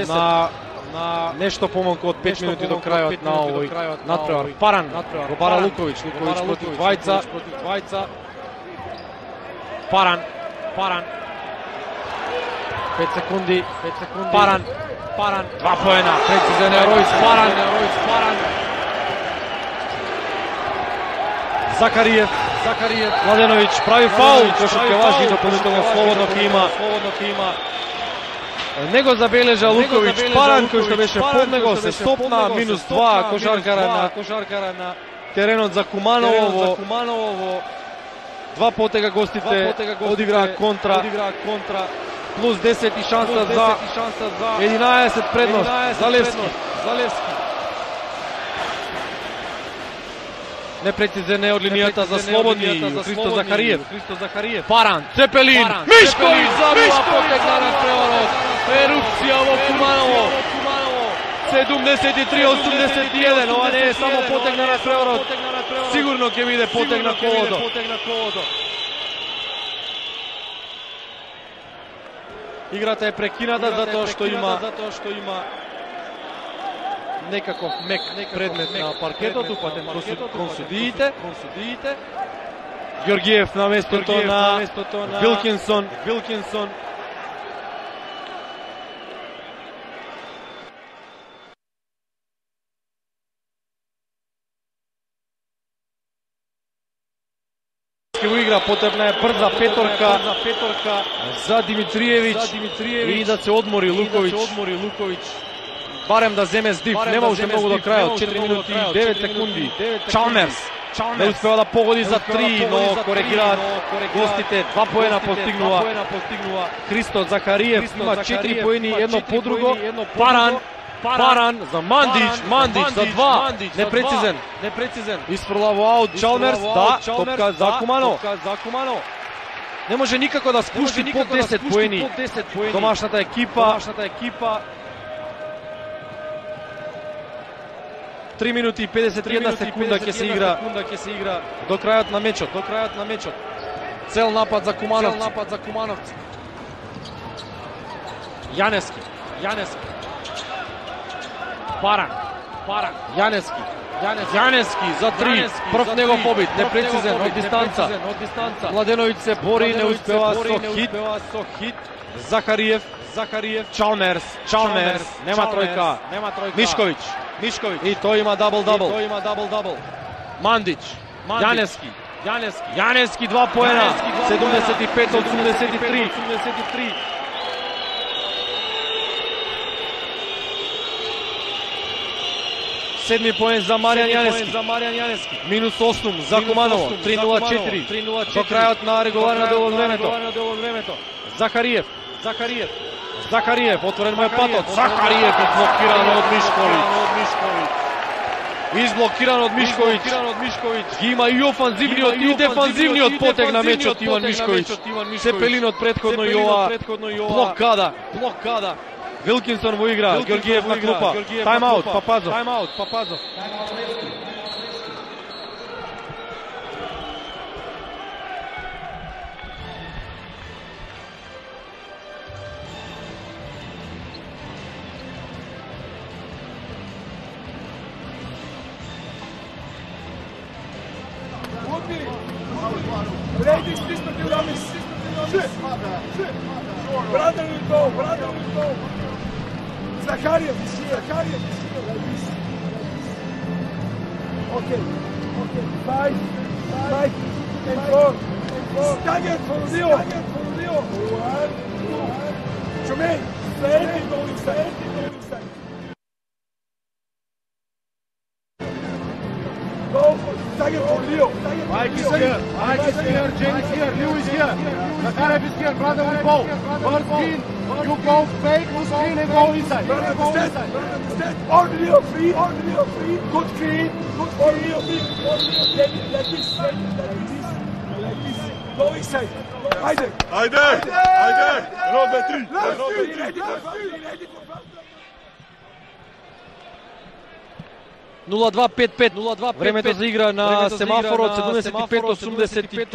на на нешто помалку од пет минути до крајот на овој натпревар. Паран го бара Луковиќ, Луковиќ против двајца, против двајца. Паран, Паран. пет секунди, пет секунди. Паран, Паран, два поена. Прецизен е Ројс Паран, Ројс Паран. Закариев, Закариев, Младеновиќ прави фаул, кошот ќе важи дополнително слободно ќе има, слободно ќе има. Не го забележа Луковиќ, Паран кој што беше под него се стопна, минус два кошаркара на кошаркара на теренот за Куманово, за Куманово. Два потега гостите одиграа контра, одиграа контра. Плюс десет и шанса за единаесет предност за Левски, за Левски. Непрецизен е од линијата за слободни Христо Захариев, Христо Захариев. Паран, Цепелин, Мишковиќ забива потегна на преварот. Ерупција во Куманово. седумдесет и три осумдесет и еден, ова не е само потегна на преварот. Сигурно ќе биде потегна колодо. Играта е прекината затоа што има затоа што има некаков мек предмет на паркетот, упатен кон судиите, кон судиите. Ѓоргиев на местото на Вилкинсон, Вилкинсон. Ке го игра, потребна е брза петорка, петорка за Димитриевиќ, Димитриевиќ и да се одмори Луковиќ, одмори Луковиќ. Барем да земе здив, нема уште многу до крајот, четири минути и девет секунди. Чалмерс не успева да погоди за три, но коригираат гостите, два поена постигнува. Христо Захариев има четири поени, едно по друго. Паран, Паран за Мандич, Мандич за два, непрецизен, непрецизен. Исфрла во аут Чалмерс, да, топка за Кумано. Не може никако да спушти под десет поени. Домашната екипа, домашната екипа. три минути и педесет и една секунда ќе се игра, ќе се игра до крајот на мечот, до крајот на мечот. Цел напад за Кумановци, цел напад за Кумановци. Јанески, Јанески. Паран, Паран, Јанески, Јанески за три, прв него побит, непрецизен од дистанца, од дистанца. Младеновиќ се бори, не успева со хит, со хит. Захариев, Захариев, Чалмерс, Чалмерс, нема тројка, нема тројка. Мишковиќ, Мишковиќ и тој има дабл-дабл. Тој има дабл-дабл. Мандич, Јанески, Јанески, Јанески два поена, седумдесет и пет осумдесет и три. Седми поен за Маријан Јанески, за Маријан Јанески. Минус осум за Куманово, три нула четири. До крајот на регуларно дел од времето. Захариев, Захариев, Захариев, отворен му е патот. Захариев изблокиран од Мишковиќ. Изблокиран од Мишковиќ. Ги има и офанзивниот и дефанзивниот потег на мечот Иван Мишковиќ. Цепелинот предходно и ова блокада, блокада. Вилкинсон во игра, Ѓоргиев на клупа. Тайм-аут, Папазов. Тайм-аут, Папазов. Brother will go, brother will go. Zakhariev, Zakhariev. Okay, okay. Five, five, and four. Stagger for Rio. One, two. Jermaine, stand and go inside. Go, stagger for Rio. Mike is here, Mike is here, James is here, Lou is here. Zakhariev is here, brother will go. First screen, you go fake, you screen and go inside. Go inside. On Rio free, on Rio free. Good screen, good on Rio free. Like this, like this, like this. Go inside. Haydi. Haydi, haydi. Robe tri. Robe tri. Ready for foul, ready for foul. нула два пет пет. Времето за игра на семафорот седумдесет и пет осумдесет и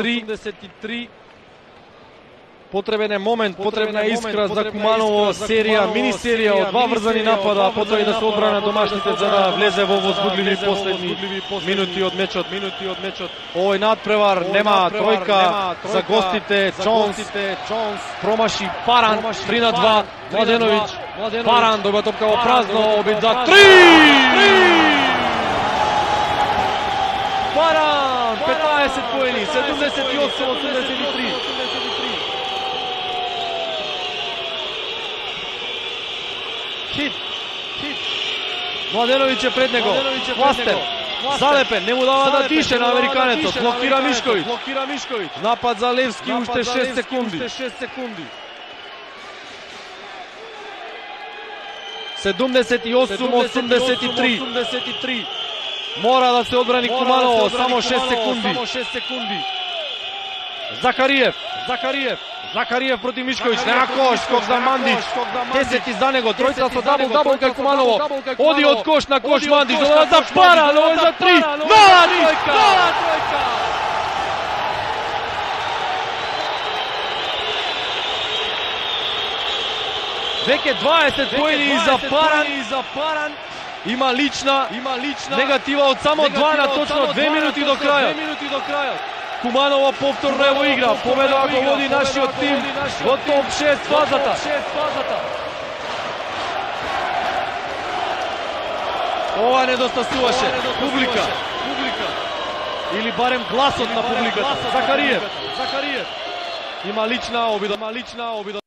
три. Потребен е момент, потребна е искра за Куманово, серија, мини серија од два врзани напада, потоа и да се одбрана домашните за да влезе во возбудливи последни минути од мечот, минути од мечот. Овој надпревар нема тројка за гостите. Джонс промаши Паран, три на два. Младеновиќ, Паран доба топка во празно, обид за три! Паран, петнаесет поени, седумдесет и осум осумдесет и три. Хит, хит. Младеновиќ е пред него. Властен, залепен, не му дава да дише на американецот. Блокира Мишковиќ. Блокира Мишковиќ. Напад за Левски, уште шест секунди. шест секунди. седумдесет и осум осумдесет и три. Мора да се одбрани Куманово, само шест секунди. Само шест секунди. Закариев, Закариев. Закариев против Мишковиќ, нема кош, скок за Мандич, десет и за него, тројца со дабл-дабл кај Куманово, оди од кош на кош Мандич, додава за Паран, ово е за три, нова тројка! Веќе дваесет поени за Паран, има лична, има лична негатива од само два на точно две минути до крајот. Куманово повторно е во игра, победа ако води нашиот тим во топ шест фазата. Ова недостасуваше публика. Или барем гласот на публиката. Закариев, Закариев. Има лична обида, има лична обида.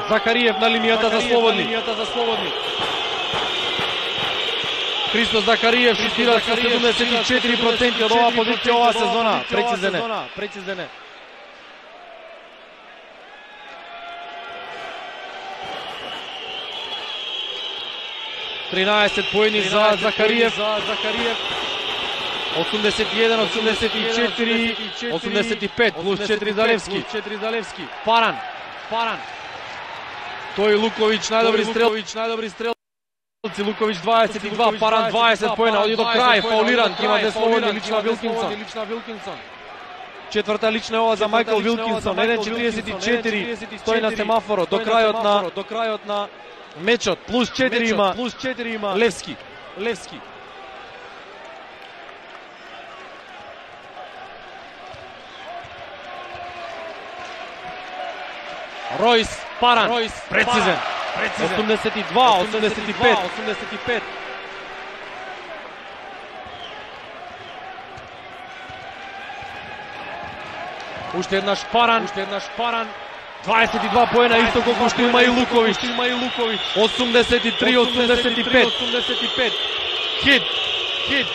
Закариев на линијата за слободни. Христо Закариев шутира со седумдесет и четири проценти од оваа позиција оваа сезона. Прецизен е. тринаесет поени за Закариев. осумдесет и еден, осумдесет и четири, осумдесет и пет плюс четири за Левски. Паран. Паран. Тој Луковиќ, најдобри стрелци, Луковиќ дваесет и два, Паран дваесет поена, оди до крај, фаулиран, има две слободни, лична Вилкинсон. Четврта лична е ова за Мајкл Вилкинсон, еден четиридесет и четири, стои на семафорот, до крајот на мечот, плюс четири има Левски. Ројс, Паран, прецизен. осумдесет и два, осумдесет и пет. Уште еднаш Паран, дваесет и два поена, исто колку што има и Луковиќ. осумдесет и три, осумдесет и пет. Хит, хит.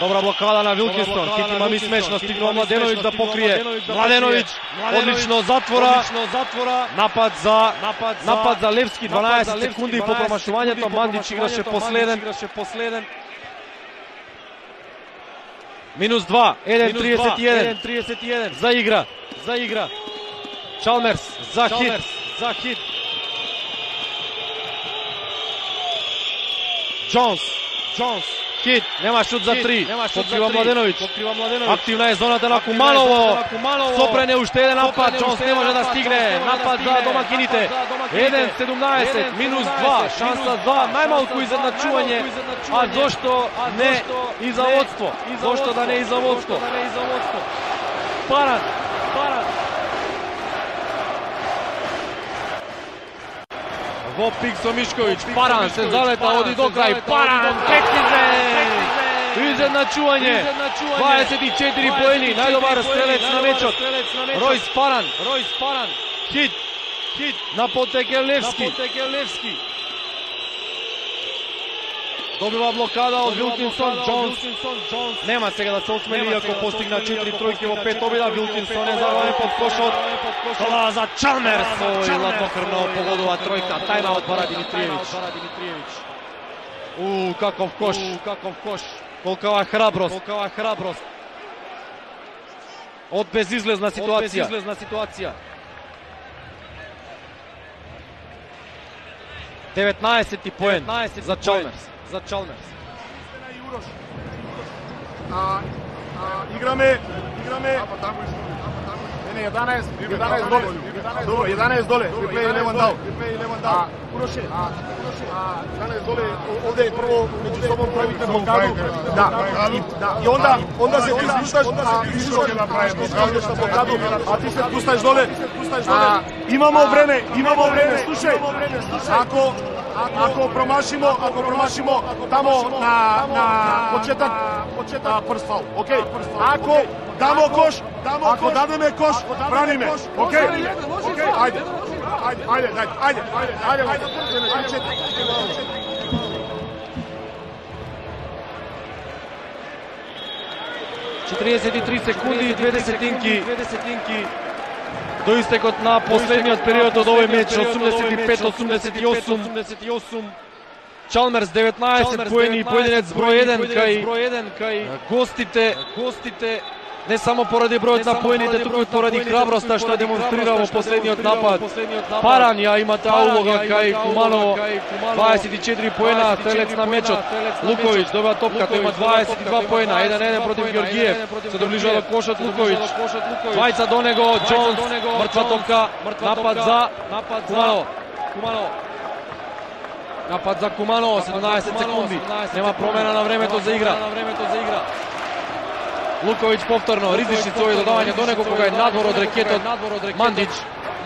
Добра блокада на Вилкинсон, Хит има ми смешно, стигнува Младеновиќ да покрие. Младеновиќ, одлично затвора. Напад за напад за Левски, дванаесет секунди по промашувањето, Мандич играше последен. Минус два, еден тридесет и еден. За игра, за игра. Чалмерс за Хит, за Хит. Джонс, Джонс. Хит, нема шут за три, покрива Младеновиќ. Активна е зоната на Куманово. Сопрене уште еден напад, Джонс не може да стигне. Напад за домакините. еден седумнаесет, минус два, шанса за најмалку изедначување. А зошто не и за водство? Зошто да не и за водство? Паран, Паран. Во пик со Мишковиќ, Паран се залета, оди до крај, Паран, прецизен! Изедначување, дваесет и четири поени, најдобар стрелец на мечот. Ројс Паран, Хит, Хит, на потеке Левски. Добива блокада од Вилкинсон, Джонс. Нема сега да се осмели, ако постигна четири тројки во пет обида. Вилкинсон е заварен под кошот. Тоа за Чалмерс. Ој, ладнокрвно погодува тројка. Тајмаут бара Димитриевиќ. У, каков кош, каков кош. Колкава храброст. Од безизлезна ситуација. деветнаесети поен за Чалмерс. За Чалмерс. А, а, играме, играме. Не, не, еданаесет, еданаесет доле. Добро, еданаесет доле. We play eleven down. We play eleven down. Уроше, а, а, еданаесет доле. Овде прво меѓу собом правите блокаду. Да, и, да, и онда, онда се ти спушташ, а ти се направиш блокаду, а ти се спушташ доле. А, имамо време, имамо време. Слушај, ако Ако промашимо, ако промашимо тамо на на почеток, почеток прст фаул. Океј. Ако дамо кош, ако дадеме кош, браниме. Океј. Океј, ајде. Ајде, ајде, ајде, ајде, ајде. четириесет и три секунди и две десетинки. До истекот на последниот период од овој меч, осумдесет и пет осумдесет и осум. Чалмерс деветнаесет поени и поединец број еден кај гостите, гостите не само поради бројот на поените, туку и поради храброста што демонстрира во последниот напад. Паран ја има таа улога кај Куманово, дваесет и четири поена, стрелец на мечот. Луковиќ добива топка, тој има дваесет и два поена, еден еден против Ѓоргиев. Се доближува до кошот Луковиќ. Двајца до него, Џонс, мртва топка, напад за Куманово. Куманово. Напад за Куманово, седумнаесет секунди. Нема промена на времето за игра. Луковиќ повторно, ризични своји додавања до него кога е надвор од рекетот. Мандич,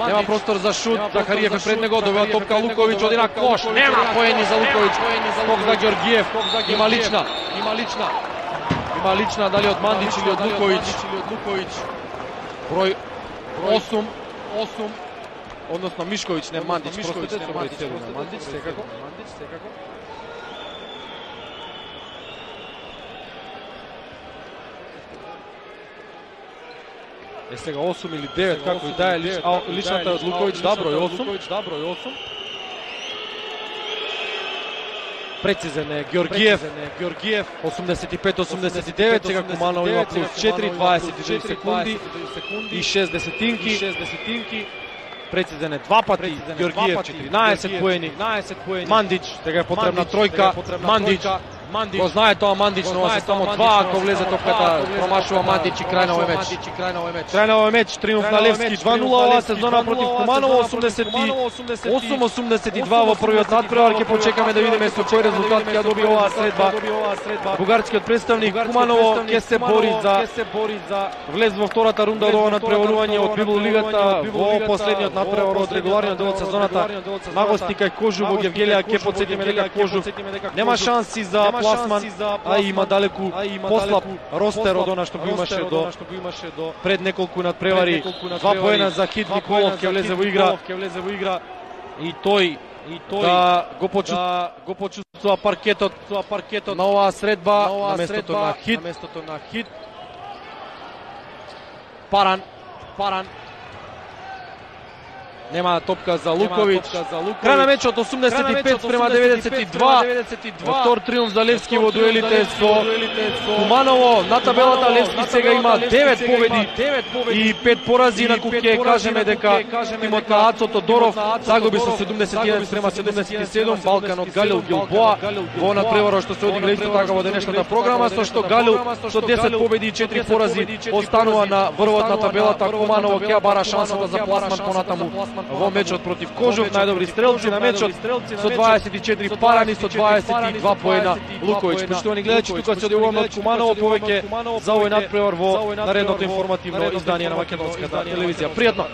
нема простор за шут, Захариев е пред него, добива топка Луковиќ, оди на кош, нема поени за Луковиќ, скок за Ѓоргиев, има лична, има лична, има лична, дали од Мандич или од Луковиќ, број осум, осум, односно Мишковиќ, не Мандич, простите, со број седум на Мандич, секако, Мандич, секако. Е сега осум или девет, како и да е, личната од Луковиќ, да, број осум. Прецизен е Ѓоргиев, осумдесет и пет осумдесет и девет, сега Куманово има плюс четири, дваесет и три секунди и шест десетинки. Прецизен е два пати, Ѓоргиев четиринаесет поени, Мандич, сега е потребна тројка, Мандич, го знае тоа Мандич, но се само два, ако влезе топката, промашува Мандич и крај на овој меч. Крај на овој меч, триумф на Левски, два нула оваа сезона против Куманово, осумдесет и осум осумдесет и два во првиот надпревар. Ќе почекаме да видиме со кој резултат ќе доби оваа средба. Бугарскиот представник Куманово ќе се бори за влез во втората рунда од ова надпреварување од Библ лигата во последниот надпревар од регуларниот дел од сезоната. Нагости кај Кожув во Гевгелија, ќе потсетиме дека Кожув нема шанси за пласман, а има далеку послаб ростер од она што го имаше до пред неколку надпревари. Два поена за Хит Николов ќе влезе во игра и тој да го почувствува паркетот на оваа средба на местото на Хит. Паран, Паран. Нема топка за Луковиќ. Крај на мечот осумдесет и пет спрема деветдесет и два. Втор триумф за Левски во дуелите со Куманово. На табелата Левски сега има девет победи и пет порази, инаку ќе кажеме дека тимот на Ацо Тодоров загуби со седумдесет и еден спрема седумдесет и седум. Балкан од Галил Гилбоа во надпреварот што се одигра исто така во денешната програма, со што Галил со десет победи и четири порази останува на врвот на табелата. Куманово ќе бара шансата за пласман понатаму во мечот против Кожув. Најдобри стрелци на мечот со дваесет и четири Парани, со дваесет и два поена Луковиќ. Поштовани гледачи, тука се одивуваме од Куманово повеќе за овој надпревар во наредното информативно издание на македонската телевизија. Пријатно!